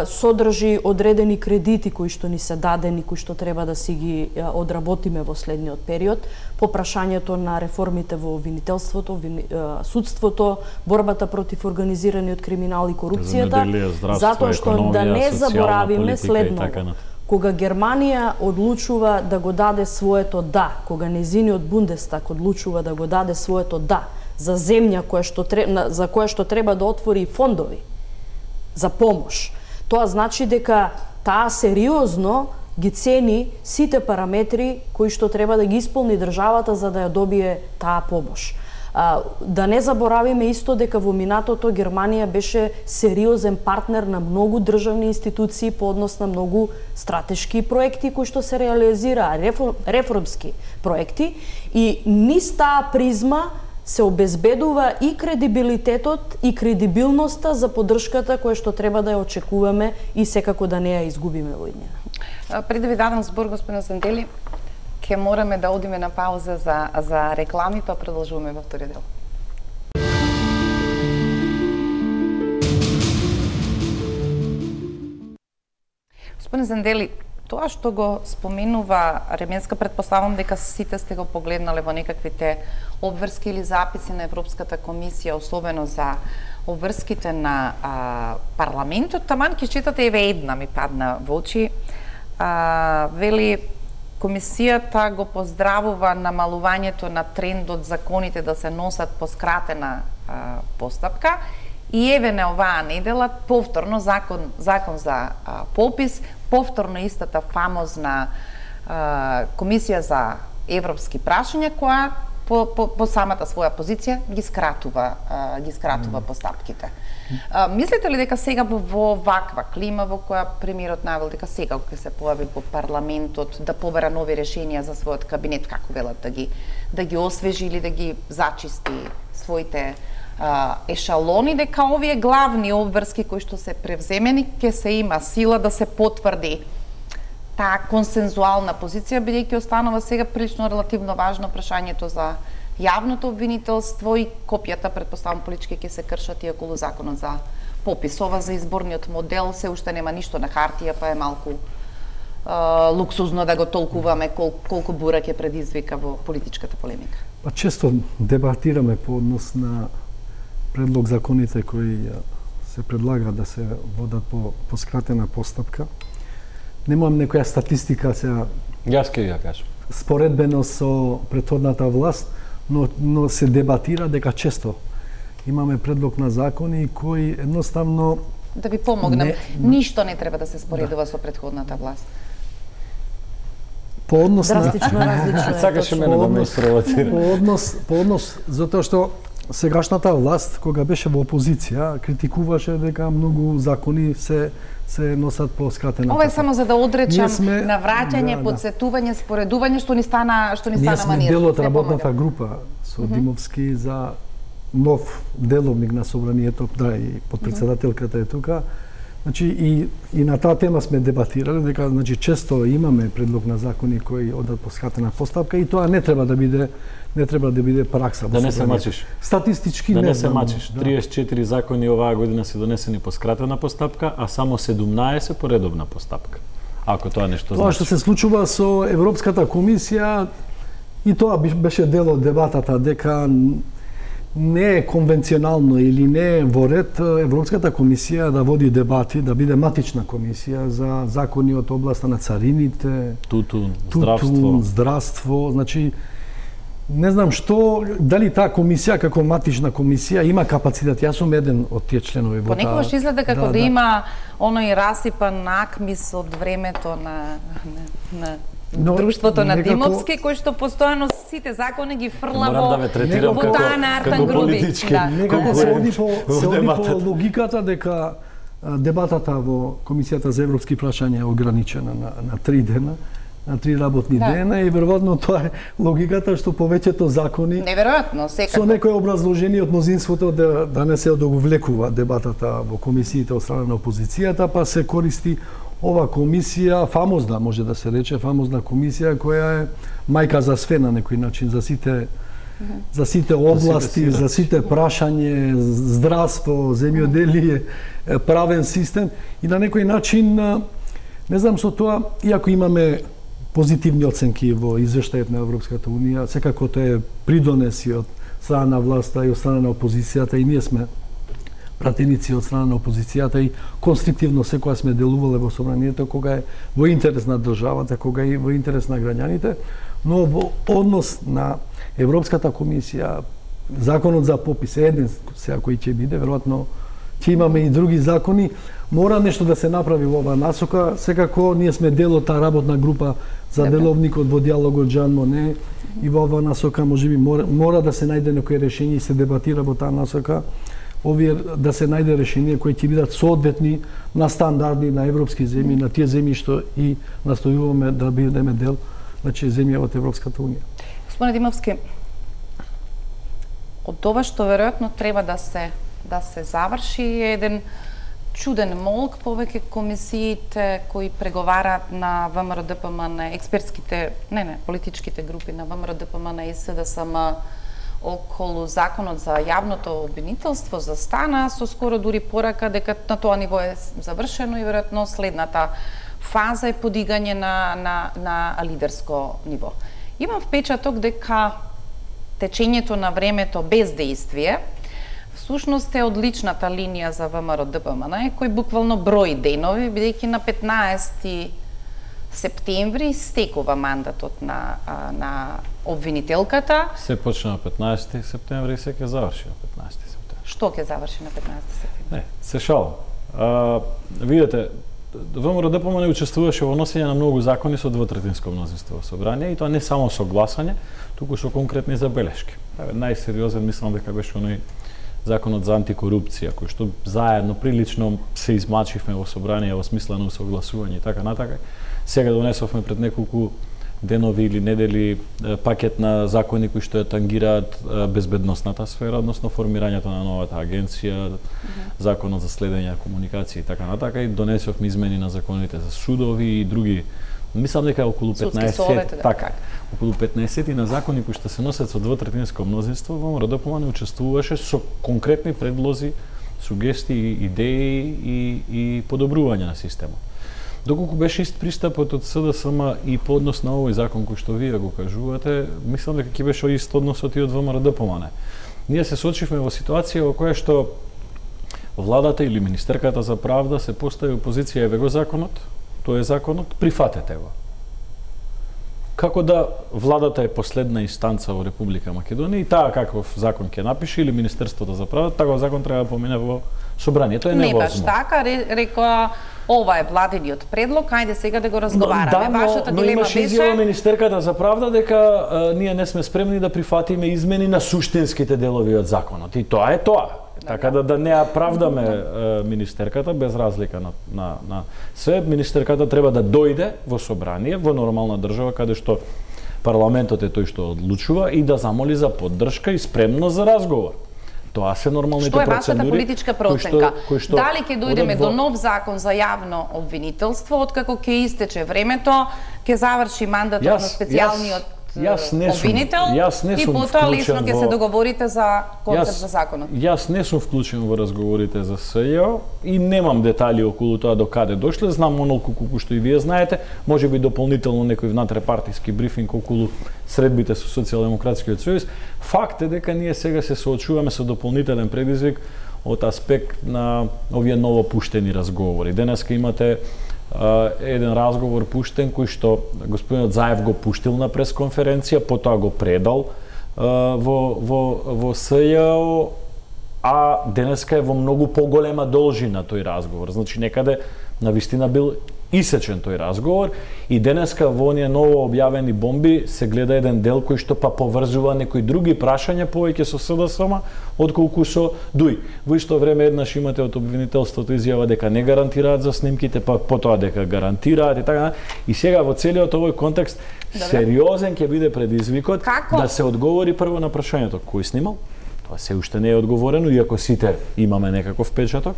содржи одредени кредити кои што ни се дадени, кои што треба да си ги одработиме во следниот период, по прашањето на реформите во обвинителството, вини, судството, борбата против организираниот криминал и корупцијата, затоа што да не заборавиме следното. Кога Германија одлучува да го даде своето да, кога незиниот Бундестаг одлучува да го даде своето да за земја која што за која што треба да отвори фондови за помош, тоа значи дека таа сериозно ги цени сите параметри кои што треба да ги исполни државата за да ја добие таа помош. А, да не заборавиме исто дека во минатото Германија беше сериозен партнер на многу државни институции по однос на многу стратешки проекти кои што се реализираа, реформски проекти, и низ таа призма се обезбедува и кредибилитетот и кредибилноста за поддршката која што треба да ја очекуваме и секако да не ја изгубиме во иднина. Пред да ви дадам збор, господин Зандели, ќе мораме да одиме на пауза за, за реклами, па продолжуваме во вториот дел. Господин Зандели, тоа што го споменува Ременска, предпоставам дека сите сте го погледнале во некаквите обврски или записи на Европската комисија, особено за обврските на а, парламентот. Таман ќе читате, еве една ми падна во очи. А, вели, комисијата го поздравува намалувањето на трендот законите да се носат по скратена а, постапка и еве на оваа недела повторно закон закон за а, попис, повторно истата фамозна а, комисија за европски прашања која по, по, по самата своја позиција ги скратува а, ги скратува mm. постапките. А, мислите ли дека сега во ваква клима во која премиерот навел дека сега ќе се појави во парламентот да побера нови решенија за својот кабинет, како велат, да ги да ги освежи или да ги зачисти своите а, ешалони, дека овие главни обврски кои што се превземени ќе се има сила да се потврди таа консензуална позиција, бидејќи останува сега прилично релативно важно прашањето за јавното обвинителство и копијата, предпоставам политички, ќе се кршат и околу законот за попис. Ова за изборниот модел се уште нема ништо на хартија, па е малку а, луксузно да го толкуваме кол, колку бура ќе предизвика во политичката полемика. Па често дебатираме по однос на предлог законите кои се предлага да се водат по, по скратена постапка. Немам некоја статистика сега. Јас ќе ја кажам. Споредбено со претходната власт, но, но се дебатира дека често имаме предлог на закони кои едноставно Да ви помогнам, не, ништо не треба да се споредува да. со претходната власт. По однос драстично на... различно е. Сакаше мене да ме спровоцира. По однос, по однос, затоа што сегашната власт, кога беше во опозиција, критикуваше дека многу закони се се носат по скратена. Ова е само за да одречам сме, на враќање, да, подсетување, споредување што ни стана што ни Ние стана манир. Ние сме дел од работната група со mm -hmm. Димовски за нов деловник на собранието, да, и подпредседателката е тука. Значи и и на таа тема сме дебатирале дека значи често имаме предлог на закони кои одат по скратена постапка и тоа не треба да биде не треба да биде пракса. Да не се мачиш. Статистички да не, не се да, мачиш. да. триесет и четири закони оваа година се донесени по скратена постапка, а само седумнаесет по редовна постапка. Ако тоа нешто Тоа значи. што се случува со Европската комисија и тоа беше дел од дебатата дека не е конвенционално или не е во ред Европската комисија да води дебати, да биде матична комисија за закони од областа на царините, тутун, тутун здравство. здравство, значи не знам што, дали таа комисија како матична комисија има капацитет. Јас сум еден од тие членови во таа. Понекогаш изгледа како да, да, да има оној расипан акмис од времето на на, на Но, друштвото на некако... Димовски, кој што постојано сите закони ги фрла Морам во, да ве третирам во како, таа на Артан како Груби. политички. Да. Некако се оди по, во се оди по дебатата. логиката дека а, дебатата во Комисијата за европски прашања е ограничена на, на три дена, на три работни Да. дена и веројатно тоа е логиката што повеќето закони Неверојатно, со секако. некој образложение од мнозинството да, да не се одовлекува дебатата во комисиите од страна на опозицијата, па се користи ова комисија, фамозна може да се рече, фамозна комисија која е мајка за све на некој начин, за сите за сите области, за сите прашање, здравство, земјоделие, правен систем и на некој начин не знам со тоа, иако имаме позитивни оценки во извештајот на Европската унија, секако тоа е придонеси од страна на власта и од страна на опозицијата и ние сме пратеници од страна на опозицијата и конструктивно секоја сме делувале во собранието кога е во интерес на државата, кога е во интерес на граѓаните, но во однос на Европската комисија, законот за попис е еден сега кој ќе биде, веројатно ќе имаме и други закони, мора нешто да се направи во оваа насока. Секако ние сме дел од таа работна група за Добре. деловникот во диалогот Жан Моне и во оваа насока можеби мора, мора да се најде некој решение и се дебатира во таа насока. Овие да се најде решение кои ќе бидат соодветни на стандарди на европски земји, на тие земји што и настојуваме да бидеме дел, значи земја од Европската унија. Господине Димовски, од ова што веројатно треба да се да се заврши е еден чуден молк повеќе комисиите кои преговараат на ВМРО-ДПМН, експертските, не не, политичките групи на ВМРО-ДПМН и СДСМ околу законот за јавното обвинителство за стана со скоро дури порака дека на тоа ниво е завршено и веројатно следната фаза е подигање на на на лидерско ниво. Имам впечаток дека течењето на времето без действие всушност е одличната линија за ВМРО-ДПМН, кој буквално брои денови, бидејќи на петнаесети септември стекува мандатот на на обвинителката. Се почна на петнаесети септември и се ќе заврши на петнаесети септември. Што ќе заврши на петнаесети септември? Не, се шалам. А, видете, ВМРО-ДПМН учествуваше во носење на многу закони со двотретинско мнозинство во собрание и тоа не само со гласање, туку со конкретни забелешки. Најсериозен мислам дека беше оној законот за антикорупција, кој што заедно прилично се измачивме во собрание во смисла на усогласување и така натака. Сега донесовме пред неколку денови или недели пакет на закони кои што ја тангираат безбедносната сфера, односно формирањето на новата агенција, mm -hmm. законот за следење на комуникација и така натака, и донесовме измени на законите за судови и други Мислам дека околу петнаесет, совет, да, така, околу петнаесет на закони кои што се носат со двотретинско мнозинство, ВМРО не учествуваше со конкретни предлози, сугестии, идеи и, и подобрување на системот. Доколку беше ист пристапот од СДСМ и по однос на овој закон кој што вие го кажувате, мислам дека ќе беше ист односот и од ВМРО. Ние се соочивме во ситуација во која што владата или министерката за правда се постави во позиција еве го законот, тој е законот, прифатете го. Како да владата е последна инстанца во Република Македонија и таа каков закон ќе напише или Министерството за правда, таков закон треба да помине во собранието, е невозможно. Не баш така, рекоа ова е владиниот предлог, ајде сега да го разговараме. Да, но, Вашата но дилема имаше изјава министерката за правда дека а, ние не сме спремни да прифатиме измени на суштинските делови од законот. И тоа е тоа. Така да да не ја правдаме е, министерката без разлика на на на се, министерката треба да дојде во собрание во нормална држава каде што парламентот е тој што одлучува и да замоли за поддршка и спремност за разговор. Тоа се нормалните процедури. Што е вашата политичка проценка? Кој што, кој што Дали ќе дојдеме во... до нов закон за јавно обвинителство, откако ќе истече времето, ќе заврши мандатот јас, на специјалниот Јас не сум, обвинител јас не и сум потоа лесно ќе во... се договорите за концепт јас, за законот. Јас не сум вклучен во разговорите за СЈО и немам детали околу тоа до каде дошле. Знам онолку колку што и вие знаете, можеби дополнително некој внатре-партиски брифинг околу средбите со Социјалдемократскиот сојуз. Факт е дека ние сега се соочуваме со дополнителен предизвик од аспект на овие новопуштени разговори. Денеска имате Uh, еден разговор пуштен кој што господинот Заев го пуштил на пресконференција, потоа го предал uh, во во во СЈО, а денеска е во многу поголема должина тој разговор. Значи некаде навистина бил исечен тој разговор и денеска во оние ново објавени бомби се гледа еден дел кој што па поврзува некои други прашања повеќе со СДСМ отколку со ДУИ. Во исто време еднаш имате од обвинителството изјава дека не гарантираат за снимките, па потоа дека гарантираат и така. И сега во целиот овој контекст Добре. Сериозен ќе биде предизвикот Како? Да се одговори прво на прашањето кој снимал. Тоа се уште не е одговорено, иако сите имаме некаков печаток.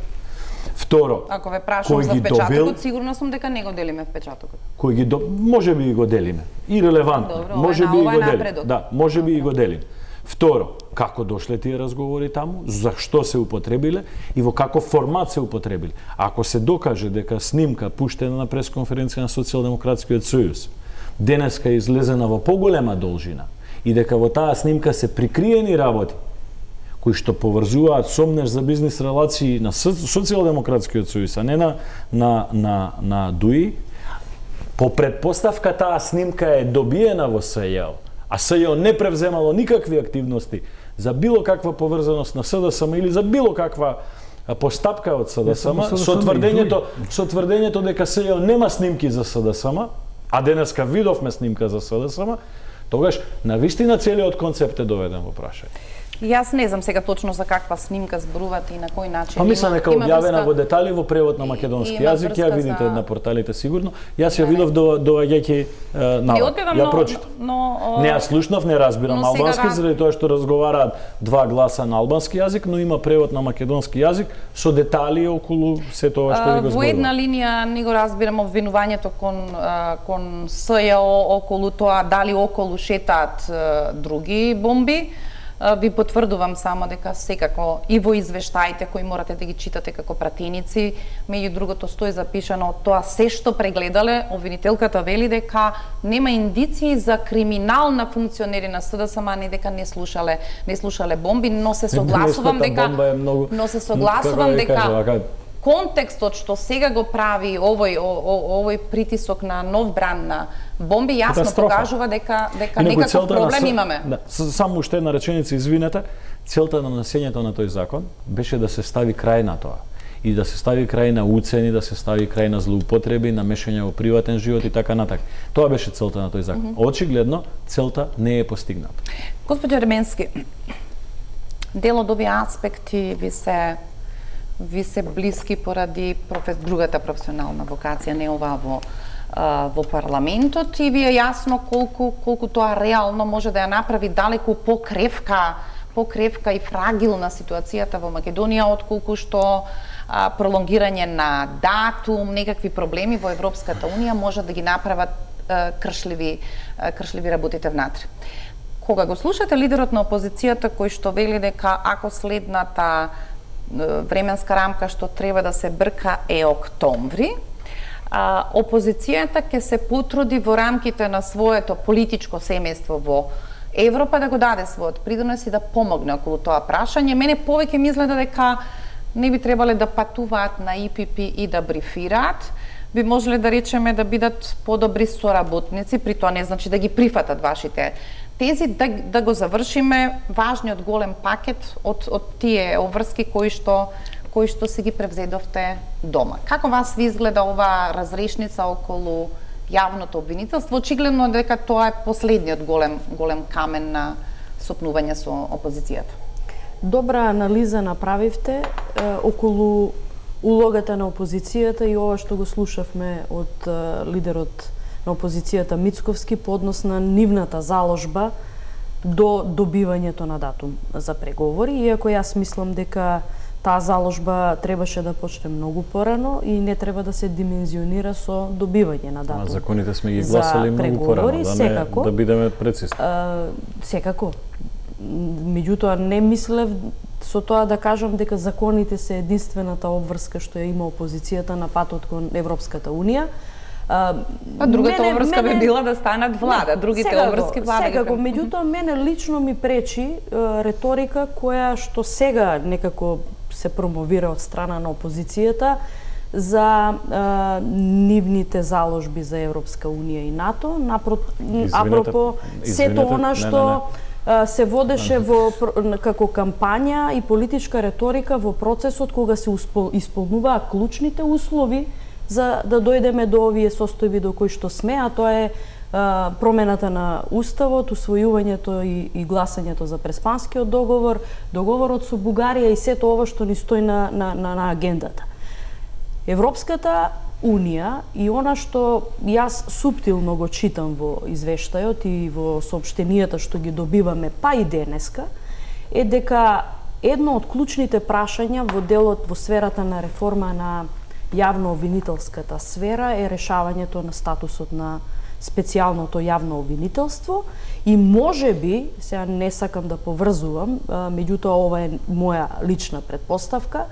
Второ, ако ве прашам за впечатокот, сигурно сум дека не го делиме впечатокот. Кој ги до... може би го делиме. Ирелевантно. Може би и го делиме. Да, може би и го делиме. Второ, како дошле тие разговори таму, зашто се употребиле и во каков формат се употребиле. Ако се докаже дека снимка пуштена на пресконференција на Социјалдемократскиот сојуз денеска е излезена во поголема должина и дека во таа снимка се прикриени работи кои што поврзуваат сомнеш за бизнис релации на Социјалдемократскиот сојуз, а не на, на, на, на ДУИ, по предпоставка таа снимка е добиена во СЈО, а СЈО не превземало никакви активности за било каква поврзаност на СДСМ или за било каква постапка од СДСМ, со тврдењето, со тврдењето дека СЈО нема снимки за СДСМ, а денеска видовме снимка за СДСМ, тогаш навистина целиот концепт е доведен во прашање. Јас не знам сега точно за каква снимка зборувате и на кој начин. Па мислам дека објавена во детали во превод на македонски јазик, ја видите за... на порталите сигурно. Јас ја видов до доаѓајќи навод. Ја прочитав. Но, не ја слушнав, не разбирам албански сега... заради тоа што разговараат два гласа на албански јазик, но има превод на македонски јазик со детали околу се тоа што ви го зборувам. Во една линија не го разбирам обвинувањето кон кон СЈО околу тоа дали околу шетаат други бомби. Ви потврдувам само дека секако и во извештаите кои морате да ги читате како пратеници, меѓу другото стои запишано тоа се што прегледале, обвинителката вели дека нема индиции за криминал на функционери на СДСМ, а не дека не слушале, не слушале бомби, но се согласувам дека многу... но се согласувам дека контекстот што сега го прави овој о, о, овој притисок на нов бранд на бомби јасно покажува дека дека некаков проблем на, имаме. Да, само уште една реченица, извинете, целта на носењето на тој закон беше да се стави крај на тоа и да се стави крај на уцени, да се стави крај на злоупотреби, на мешање во приватен живот и така натаму. Тоа беше целта на тој закон. Mm -hmm. Очигледно целта не е постигната. Господи Ерменски, дел од овие аспекти ви се ви се блиски поради профес, другата професионална вокација, не ова во во парламентот, и ви е јасно колку колку тоа реално може да ја направи далеку покревка покревка и фрагилна ситуацијата во Македонија, отколку што а, пролонгирање на датум, некакви проблеми во Европската Унија може да ги направат а, кршливи, а, кршливи работите внатре. Кога го слушате лидерот на опозицијата кој што вели дека ако следната временска рамка што треба да се брка е октомври, а, опозицијата ќе се потруди во рамките на своето политичко семејство во Европа да го даде својот придонес и да помогне околу тоа прашање. Мене повеќе ми изгледа дека не би требале да патуваат на И Пи Пи и да брифираат, би можеле да речеме да бидат подобри соработници, при тоа не значи да ги прифатат вашите тези, да, да го завршиме важниот голем пакет од, од тие обврски кои што кои што си ги превзедовте дома. Како вас ви изгледа оваа разрешница околу јавното обвинителство? Очигледно дека тоа е последниот голем голем камен на сопнување со опозицијата. Добра анализа направивте е, околу улогата на опозицијата и ова што го слушавме од е, лидерот на опозицијата Мицковски по однос на нивната заложба до добивањето на датум за преговори, иако јас мислам дека таа заложба требаше да почне многу порано и не треба да се димензионира со добивање на датум. А законите сме ги гласали многу порано, да, не, да бидеме прецизни. Секако. Меѓутоа не мислев со тоа да кажам дека законите се единствената обврска што ја има опозицијата на патот кон Европската Унија. Па другата мене, обврска мене... би била да станат влада, другите секако, обврски влада. Секако, меѓутоа мене лично ми пречи е, реторика која што сега некако се промовира од страна на опозицијата за е, нивните заложби за Европска Унија и НАТО, напро... апропо сето она што не, не, не. се водеше во како кампања и политичка реторика во процесот кога се исполнуваа клучните услови за да дојдеме до овие состојби до кои што сме, а тоа е а, промената на уставот, усвојувањето и, и гласањето за Преспанскиот договор, договорот со Бугарија и сето ова што ни стои на, на, на, на агендата. Европската Унија и она што јас суптилно го читам во извештајот и во соопштенијата што ги добиваме па и денеска, е дека едно од клучните прашања во делот во сферата на реформа на јавно обвинителската сфера е решавањето на статусот на специјалното јавно обвинителство и може би, сега не сакам да поврзувам, меѓутоа ова е моја лична предпоставка,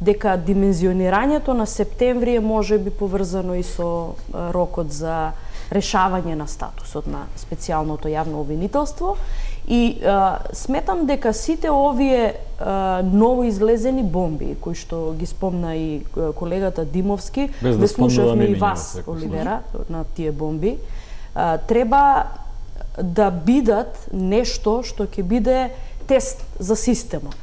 дека димензионирањето на септември е може би поврзано и со рокот за решавање на статусот на специјалното јавно обвинителство и а, сметам дека сите овие а, новоизлезени бомби кои што ги спомна и колегата Димовски, без да слушавме и вас, Оливера, на тие бомби, а, треба да бидат нешто што ќе биде тест за системот.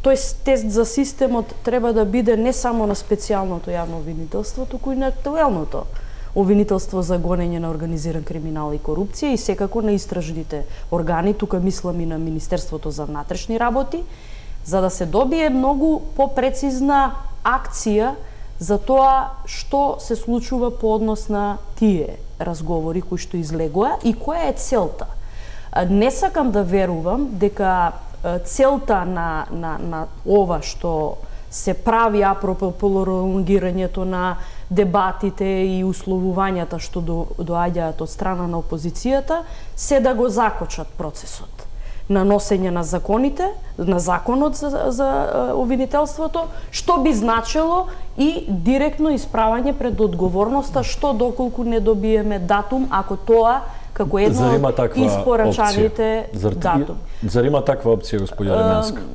Тоест, тест за системот треба да биде не само на специјалното јавно обвинителство, туку и на актуелното обвинителство за гонење на организиран криминал и корупција и секако на истражните органи, тука мислам и на Министерството за внатрешни работи, за да се добие многу попрецизна акција за тоа што се случува по однос на тие разговори кои што излегоа и која е целта. Не сакам да верувам дека целта на, на, на ова што се прави апропо пролонгирањето на дебатите и условувањата што до, доаѓаат од страна на опозицијата, се да го закочат процесот на носење на законите, на законот за, за обвинителството, што би значило и директно исправање пред одговорноста што доколку не добиеме датум, ако тоа како едно од испорачаните датум. Зар има таква опција, господја Ременска?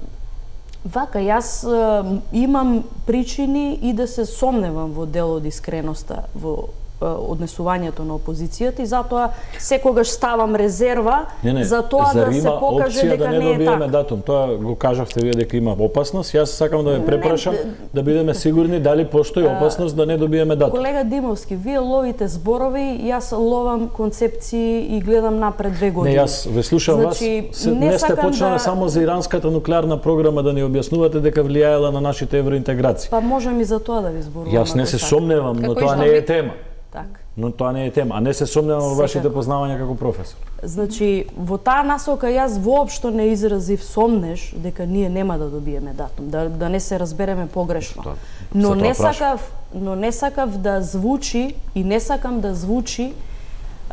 Вака, јас е, имам причини и да се сомневам во дел од искреноста во е, однесувањето на опозицијата и затоа секогаш ставам резерва не, не, за тоа да се покаже дека да не, не е така. Датум? Тоа го кажавте вие дека има опасност. Јас сакам да ве препрашам не, да бидеме сигурни дали постои опасност да не добиеме датум. Колега Димовски, вие ловите зборови, јас ловам концепции и гледам напред две години. Не, јас ве слушам значи, вас. Се, не, не сте почнали да... само за иранската нуклеарна програма да ни објаснувате дека влијаела на нашите евроинтеграции. Па можам и за тоа да ви зборувам. Јас не се сомневам, но тоа не е тема. Така. Но тоа не е тема, а не се сомневам во вашите познавања како професор. Значи, во таа насока јас воопшто не изразив сомнеш дека ние нема да добиеме датум, да, да не се разбереме погрешно. Тоа, но не прашам. сакав, но не сакав да звучи и не сакам да звучи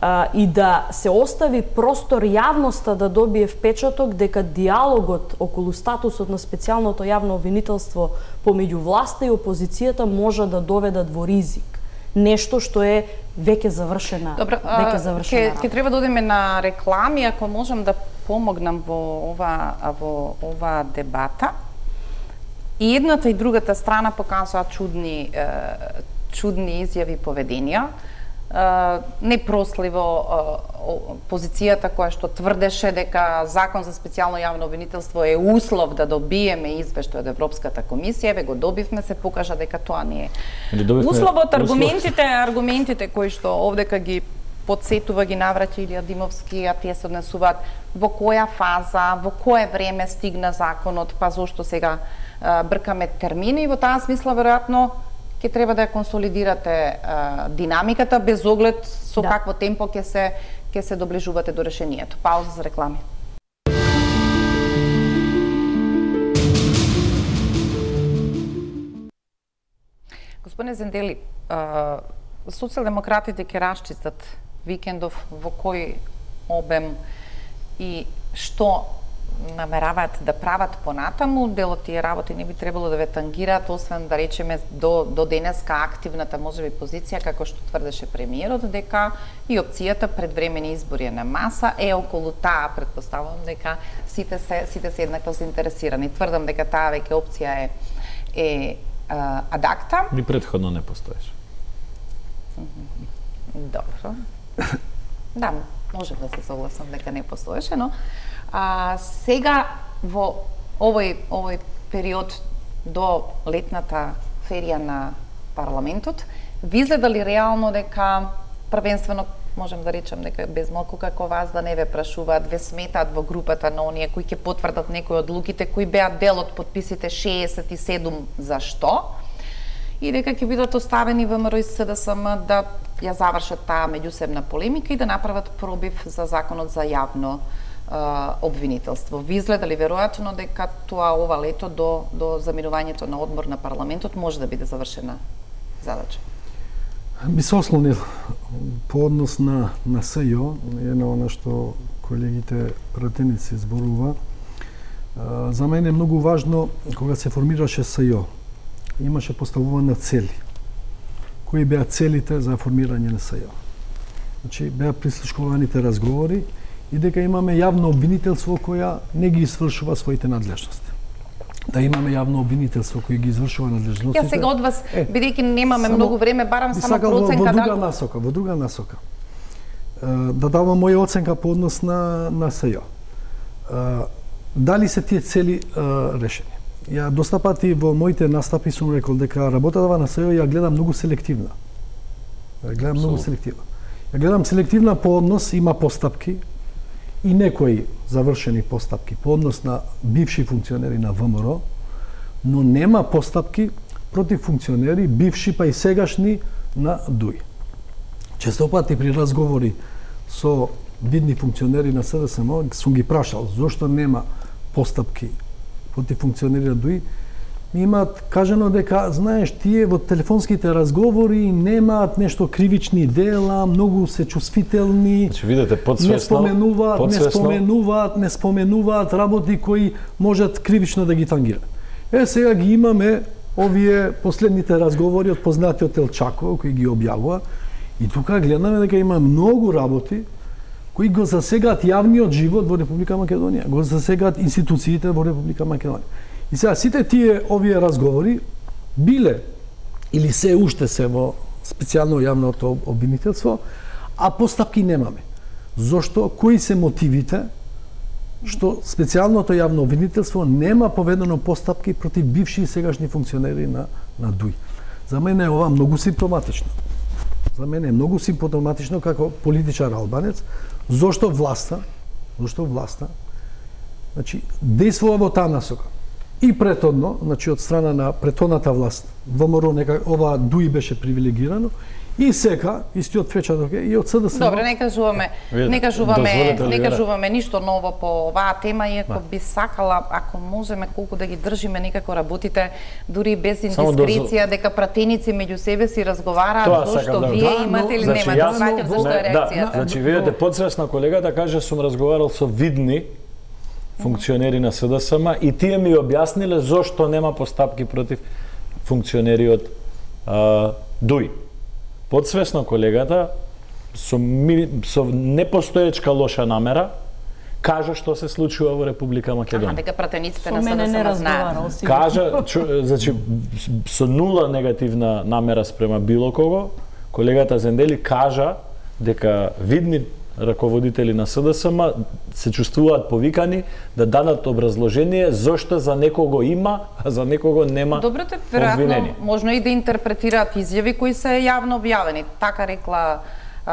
а, и да се остави простор јавноста да добие впечаток дека диалогот околу статусот на специјалното јавно обвинителство помеѓу власта и опозицијата може да доведат во ризик. Нешто што е веќе завршена, Добро, веќе завршена ке, работа. ке треба да одиме на реклами, ако можам да помогнам во ова во ова дебата. И едната и другата страна покажаат чудни е, чудни изјави и поведенија. Непросливо позицијата која што тврдеше дека закон за специјално јавно обвинителство е услов да добиеме извештај од Европската комисија, еве го добивме, се покажа дека тоа не е. Условот, аргументите, аргументите кои што овдека ги подсетува, ги навраќа Илија Димовски, а тие се однесуваат во која фаза, во кое време стигна законот, па зошто сега а, бркаме термини, и во таа смисла веројатно ќе треба да ја консолидирате а, динамиката без оглед со да. какво темпо ќе се ќе се доближувате до решението. Пауза за реклами. Господине Зендели, а, социјалдемократите ќе расчистат викендов во кој обем и што намераваат да прават понатаму. Дел од тие работи не би требало да ве тангираат, освен да речеме до, до денеска активната можеби позиција, како што тврдеше премиерот, дека и опцијата предвремени избори е на маса, е околу таа, предпоставувам дека сите се сите се еднакво заинтересирани. Тврдам дека таа веќе опција е е а, адакта. Ни претходно не постоеше. Добро. Да, можем да се согласам дека не постоеше, но а, сега во овој овој период до летната ферија на парламентот, ви изгледа ли реално дека првенствено можем да речем дека без малку како вас да не ве прашуваат, ве сметаат во групата на оние кои ќе потврдат некои од луките кои беа дел од подписите шеесет и седум за што? И дека ќе бидат оставени ВМРО и СДСМ да ја завршат таа меѓусебна полемика и да направат пробив за законот за јавно а, обвинителство. Ви изгледа ли веројатно дека тоа ова лето до, до заминувањето на одмор на парламентот може да биде завршена задача? Би се ослонил по однос на, на СЈО, е на она што колегите пратеници зборува. А, за мене е многу важно, кога се формираше СЈО, имаше поставуване цели. Кои беа целите за формирање на СЈО? Значи, беа прислушкуваните разговори и дека имаме јавно обвинителство која не ги извршува своите надлежности. Да имаме јавно обвинителство кој ги извршува надлежностите. Ја сега од вас, е, бидејќи немаме само, многу време, барам само проценка во, во друга да... насока, во друга насока. Да давам моја оценка по однос на на СЈО. Дали се тие цели решени? Ја доста пати во моите настапи сум рекол дека работата на СЈО ја гледам многу селективна. Ја гледам многу селективна. Ја гледам селективна по однос, има постапки и некои завршени постапки по однос на бивши функционери на ВМРО, но нема постапки против функционери, бивши па и сегашни на ДУИ. Често пати при разговори со видни функционери на СДСМ сум ги прашал зошто нема постапки против функционери на ДУИ. Ми имаат кажано дека, знаеш, тие во телефонските разговори немаат нешто кривични дела, многу се чувствителни. Значи, видите, подсвесно, не споменуваат, подсвесно... не споменуваат, не споменуваат работи кои можат кривично да ги тангираат. Е, сега ги имаме овие последните разговори од познатиот Елчаков, кои ги објавува, и тука гледаме дека има многу работи кои го засегаат јавниот живот во Република Македонија, го засегаат институциите во Република Македонија. И сега сите тие овие разговори биле или се уште се во специјално јавното обвинителство, а постапки немаме. Зошто? Кои се мотивите што специјалното јавно обвинителство нема поведено постапки против бивши и сегашни функционери на на ДУИ? За мене е ова многу симптоматично. За мене е многу симптоматично како политичар албанец, зошто власта, зошто власта, значи, действува во таа насока. И претhodно, значи од страна на претhodната власт, ВМРО нека ова ДУИ беше привилегирано, И сека, истиот печаток е и од СДСМ. Добре, не кажуваме, не кажуваме, не кажуваме ништо ново по оваа тема, иако би сакала, ако можеме колку да ги држиме некако работите, дури без индискреција, дека пратеници меѓу себе си разговараат, зошто да, вие да, имате или значи, немате, јас, сваќам зашто е реакцијата. Да, значи, видите, подсвесно колегата каже, сум разговарал со видни функционери на СДСМ и тие ми објасниле зошто нема постапки против функционери од ДУИ. Подсвесно колегата со, ми, со непостоечка лоша намера кажа што се случува во Република Македонија. Аха, дека пратениците на СДСМ знаат. Кажа, чу, значи, со нула негативна намера спрема било кого, колегата Зендели кажа дека видни раководители на СДСМ се чувствуваат повикани да дадат образложение зошто за некого има, а за некого нема. Добрете, веројатно, можно и да интерпретираат изјави кои се јавно објавени. Така рекла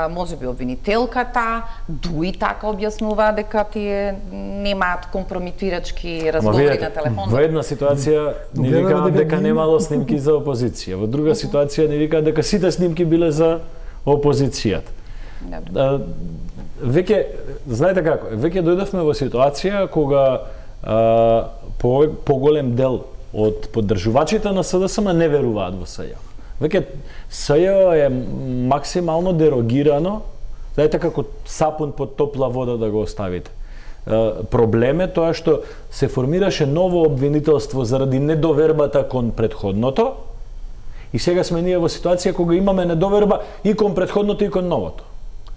може би обвинителката, ДУИ така објаснува дека тие немаат компрометирачки разговори на телефон. Во една ситуација не викаат дека немало снимки за опозиција, во друга ситуација не викаат дека сите снимки биле за опозицијата. Веќе, знаете како, веќе дојдовме во ситуација кога а, по, поголем дел од поддржувачите на СДСМ не веруваат во СЈО. Веќе СЈО е максимално дерогирано, знаете како сапун под топла вода да го оставите. А, проблем е тоа што се формираше ново обвинителство заради недовербата кон претходното и сега сме ние во ситуација кога имаме недоверба и кон претходното и кон новото.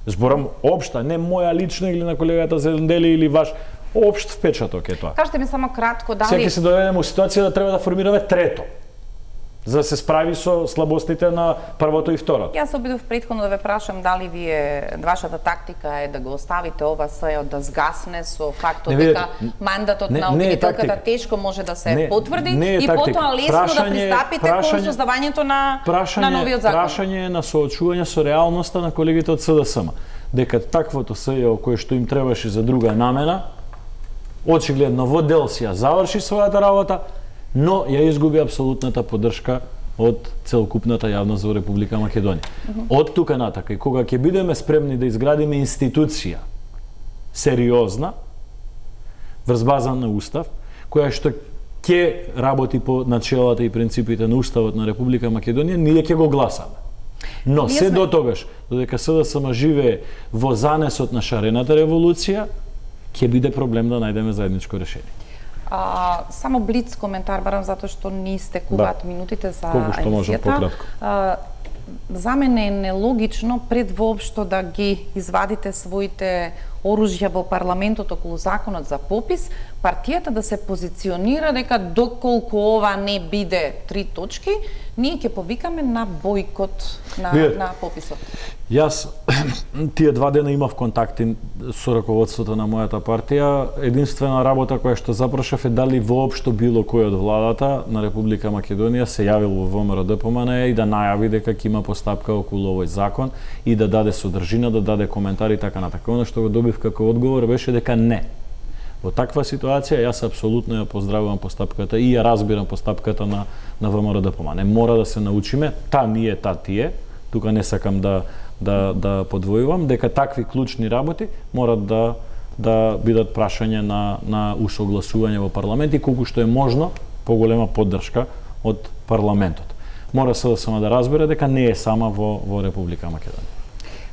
Зборам општа, не моја лично или на колегата Зендели или ваш, општ впечаток е тоа. Кажете ми само кратко, дали... Сега се доведеме во ситуација да треба да формираме трето, за да се справи со слабостите на првото и второто. Јас обидов претходно да ве прашам дали вие, вашата тактика е да го оставите ова СЈО да згасне со фактот не, дека мандатот не, на обвинителката тешко може да се не, потврди не и потоа лесно прашање, да пристапите кон создавањето на, прашање, на новиот закон. Прашање на соочување со реалноста на колегите од СДСМ. Дека таквото СЈО кое што им требаше за друга намена, очигледно во дел си ја заврши својата работа, но ја изгуби апсолутната поддршка од целокупната јавност во Република Македонија. Uh -huh. Од тука натака и кога ќе бидеме спремни да изградиме институција сериозна, врз база на устав, која што ќе работи по начелата и принципите на уставот на Република Македонија, ние ќе го гласаме. Но ние се сме... до тогаш, додека СДСМ живее во занесот на шарената револуција, ќе биде проблем да најдеме заедничко решение. А, само блиц коментар, барам затоа што не истекуваат да. минутите за емисијата. За мене е нелогично пред воопшто да ги извадите своите оружја во парламентот околу законот за попис, партијата да се позиционира дека доколку ова не биде три точки, ние ќе повикаме на бојкот на, на пописот. Јас тие два дена имав контакти со раководството на мојата партија. Единствена работа која што запрашав е дали воопшто било кој од владата на Република Македонија се јавил во ВМРО-ДПМН и да најави дека ќе има постапка околу овој закон и да даде содржина, да даде коментари и така натака. Оно што го добив како одговор беше дека не. Во таква ситуација јас апсолутно ја поздравувам постапката и ја разбирам постапката на на ВМРО-ДПМН. Мора да се научиме, та ние, та тие. Тука не сакам да да да подвојувам дека такви клучни работи морат да да бидат прашање на на усогласување во парламент и колку што е можно поголема поддршка од парламентот. Мора се да само да разбере дека не е сама во во Република Македонија.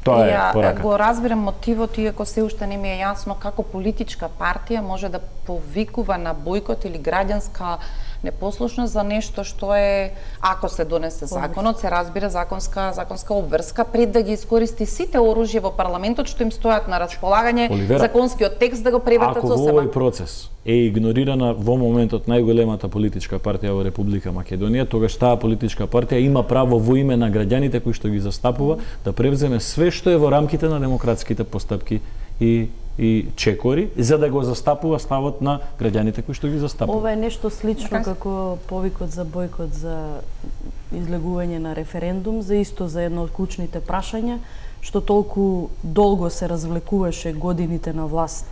Тоа е пораката. Го разбирам мотивот, иако се уште не ми е јасно како политичка партија може да повикува на бојкот или граѓанска непослушност за нешто што е, ако се донесе законот, се разбира законска законска обврска пред да ги искористи сите оружја во парламентот што им стојат на располагање, Оливера, законскиот текст да го превратат со себе. Ако во овој процес е игнорирана во моментот најголемата политичка партија во Република Македонија, тогаш таа политичка партија има право во име на граѓаните кои што ги застапува да превземе све што е во рамките на демократските постапки и и чекори, за да го застапува ставот на граѓаните кои што ги застапува. Ова е нешто слично како повикот за бојкот за излегување на референдум, за исто за едно од клучните прашања, што толку долго се развлекуваше годините на власт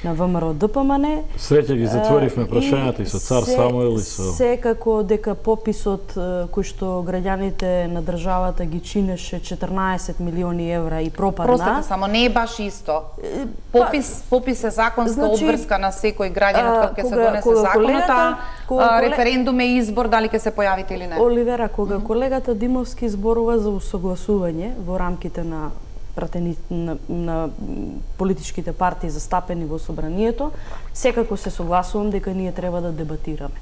на ВМРО Д П М Н. Среќа ги затворивме прашањата и со цар се, Самуил и со... Секако дека пописот кој што граѓаните на државата ги чинеше четрнаесет милиони евра и пропадна. Простете, само не е баш исто. Попис, попис е законска значи, обврска на секој граѓанин кога ќе се донесе кога законот, колегата, кога а колег... референдум е избор дали ќе се појавите или не. Оливера, кога mm -hmm. колегата Димовски зборува за усогласување во рамките на пратени на, на политичките партии застапени во собранието, секако се согласувам дека ние треба да дебатираме.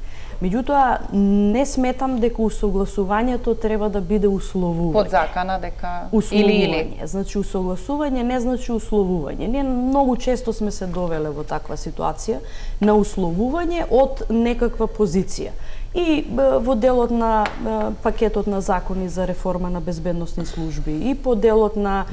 Меѓутоа, не сметам дека усогласувањето треба да биде условување. Под закана дека или или. Значи, усогласување не значи условување. Ние многу често сме се довеле во таква ситуација на условување од некаква позиција. И во делот на пакетот на закони за реформа на безбедносни служби, и по делот на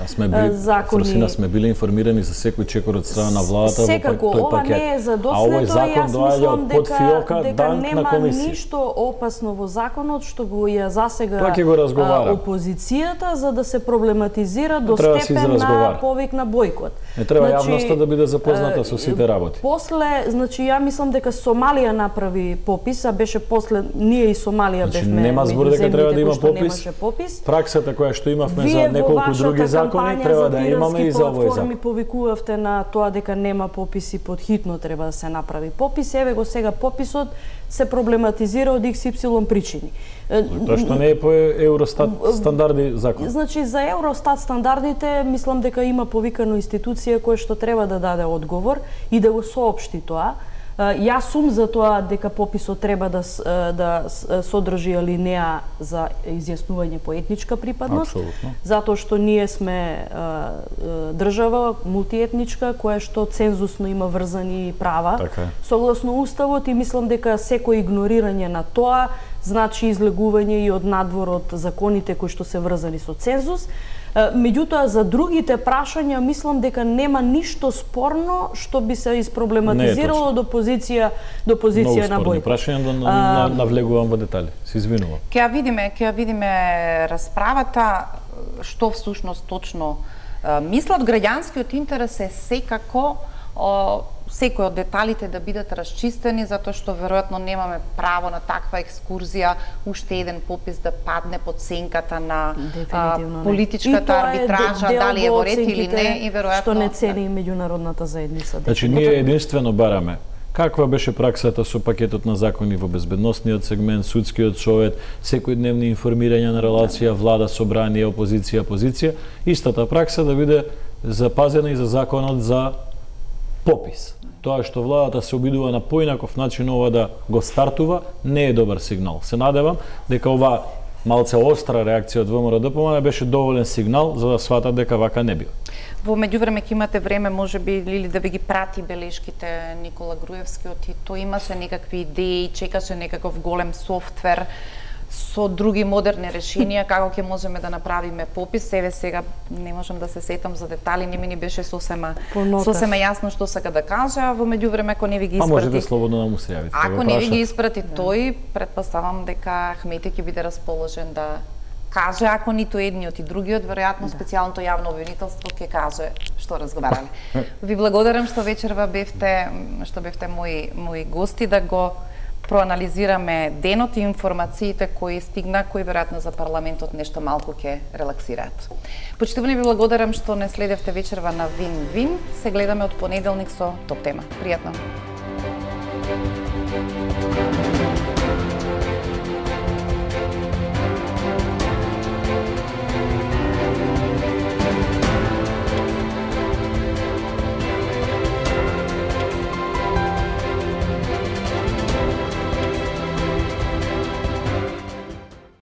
закони... Фросина сме били информирани за секој чекор од страна на владата секако, во тој ова пакет. Не е задоследно, а овој закон доаѓа од под фиока, дека данк на комисија. Нема ништо опасно во законот што го ја засега го опозицијата за да се проблематизира до степен на повик на бојкот. Не треба значи, јавноста да биде запозната со сите работи. После, значи ја мислам дека Сомалија направи попис, а беше после ние и Сомалија значи, бевме нема збор дека треба да има попис. попис. Праксата која што имавме Вие за неколку други закони треба да имаме и за овој закон. Ми повикувавте на тоа дека нема пописи, подхитно треба да се направи попис. Еве го сега пописот се проблематизира од икс ипсилон причини. Тоа што не е по Евростат стандарди закон. Значи за Евростат стандардите мислам дека има повикано институција која што треба да даде одговор и да го соопшти тоа. Јас сум за тоа дека пописот треба да да содржи алинеа за изјаснување по етничка припадност. Апсолутно. Затоа што ние сме држава мултиетничка која што цензусно има врзани права така согласно уставот и мислам дека секој игнорирање на тоа значи излегување и од надвор од законите кои што се врзани со цензус. Меѓутоа, за другите прашања, мислам дека нема ништо спорно што би се испроблематизирало до позиција до позиција на бој. Многу спорни прашања, да на, навлегувам во детали. Се извинувам. Ќе ја видиме, ќе ја видиме расправата, што всушност точно мислат. Граѓанскиот интерес е секако о, секој од деталите да бидат расчистени, затоа што веројатно немаме право на таква екскурзија, уште еден попис да падне под сенката на а, политичката арбитража, дали е во ред или не, и веројатно што не цени меѓународната заедница. Значи ние единствено бараме каква беше праксата со пакетот на закони во безбедносниот сегмент, судскиот совет, секојдневни информирања на релација влада, собрание, опозиција, позиција, истата пракса да биде запазена и за законот за попис. Тоа што владата се обидува на поинаков начин ова да го стартува, не е добар сигнал. Се надевам дека ова малце остра реакција од ВМРО Д П М Н беше доволен сигнал за да сватат дека вака не бива. Во меѓувреме ќе имате време можеби или да ви ги прати белешките Никола Груевскиот и тој имаше некакви идеи, чекаше некаков голем софтвер со други модерни решенија како ќе можеме да направиме попис. Еве сега не можам да се сетам за детали, не ми ни беше сосема сосема јасно што сака да каже, а во меѓувреме ако не ви ги испрати. А можете слободно да му се јавите. Ако не ви ги испрати тој, предпоставам дека Ахмети ќе биде расположен да каже, ако ниту едниот и другиот, веројатно специјалното јавно обвинителство ќе каже што разговараме. Ви благодарам што вечерва бевте, што бевте мои мои гости да го проанализираме денот и информациите кои стигна, кои веројатно за парламентот нешто малку ќе релаксираат. Почитувани, ви благодарам што не следевте вечерва на Вин-Вин. Се гледаме од понеделник со топ тема. Пријатно.